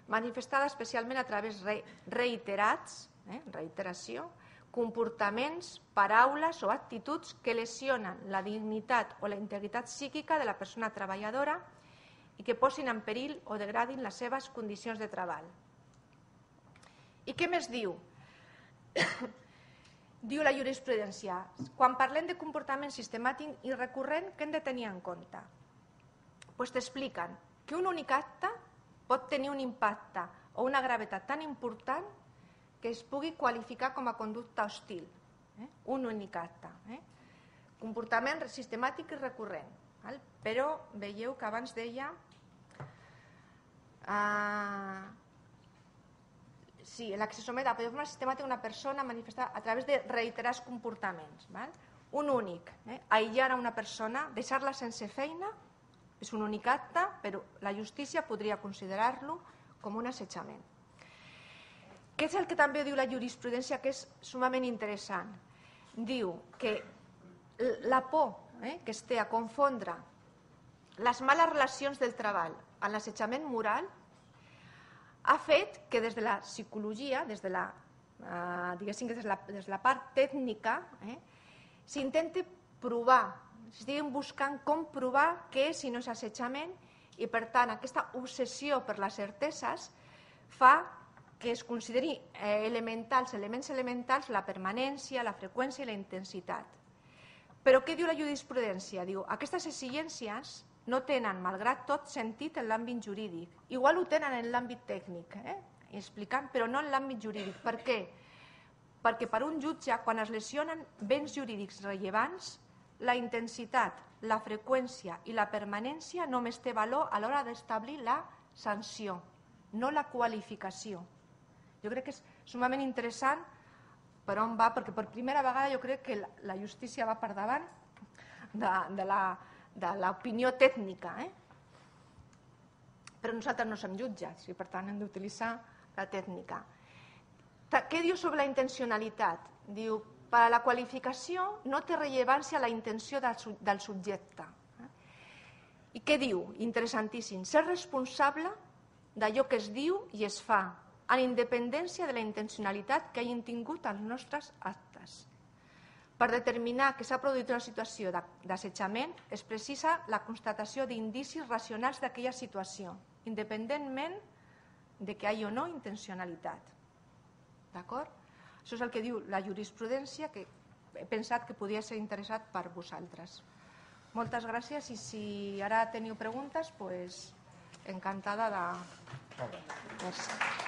Speaker 1: manifestada especialment a través re, reiterats, eh, reiteració, comportaments, paraules o actituds que lesionen la dignitat o la integritat psíquica de la persona treballadora i que posin en perill o degradin les seves condicions de treball. I què més diu? Diu la jurisprudència, quan parlem de comportament sistemàtic i recurrent, què hem de tenir en compte? Pues t'expliquen que un únic acte pot tenir un impacte o una gravetat tan important que es pugui qualificar com a conducta hostil. Eh? Un únic acte. Eh? Comportament sistemàtic i recurrent. Val? Però veieu que abans deia uh, sí, la que se somet a de forma sistemàtica una persona manifestada a través de reiterats comportaments. Val? Un únic. Eh? Aïllar a una persona, deixar-la sense feina, és un únic acte, però la justícia podria considerar-lo com un assetjament. Què és el que també diu la jurisprudència que és sumament interessant? Diu que la por eh, que es té a confondre les males relacions del treball amb l'assetjament moral ha fet que des de la psicologia, des de la, eh, diguéssim que des de la, des de la part tècnica, eh, s'intenti provar, estiguin buscant com provar què és i no és assetjament i per tant aquesta obsessió per les certeses fa que es consideri elementals, elements elementals, la permanència, la freqüència i la intensitat. Però què diu la jurisprudència? Diu, aquestes exigències no tenen, malgrat tot, sentit en l'àmbit jurídic. Igual ho tenen en l'àmbit tècnic, eh? explicant, però no en l'àmbit jurídic. Per què? Perquè per un jutge, quan es lesionen béns jurídics rellevants, la intensitat, la freqüència i la permanència només té valor a l'hora d'establir la sanció, no la qualificació. Jo crec que és sumament interessant per on va, perquè per primera vegada jo crec que la justícia va per davant de, de l'opinió tècnica. Eh? Però nosaltres no som jutges i per tant hem d'utilitzar la tècnica. Què diu sobre la intencionalitat? Diu, per a la qualificació no té rellevància la intenció del subjecte. I què diu? Interessantíssim. Ser responsable d'allò que es diu i es fa, en independència de la intencionalitat que hagin tingut els nostres actes. Per determinar que s'ha produït una situació d'assetjament es precisa la constatació d'indicis racionals d'aquella situació, independentment de que hi hagi o no intencionalitat. D'acord? Això és el que diu la jurisprudència, que he pensat que podia ser interessat per vosaltres. Moltes gràcies i si ara teniu preguntes, doncs encantada de... Merci.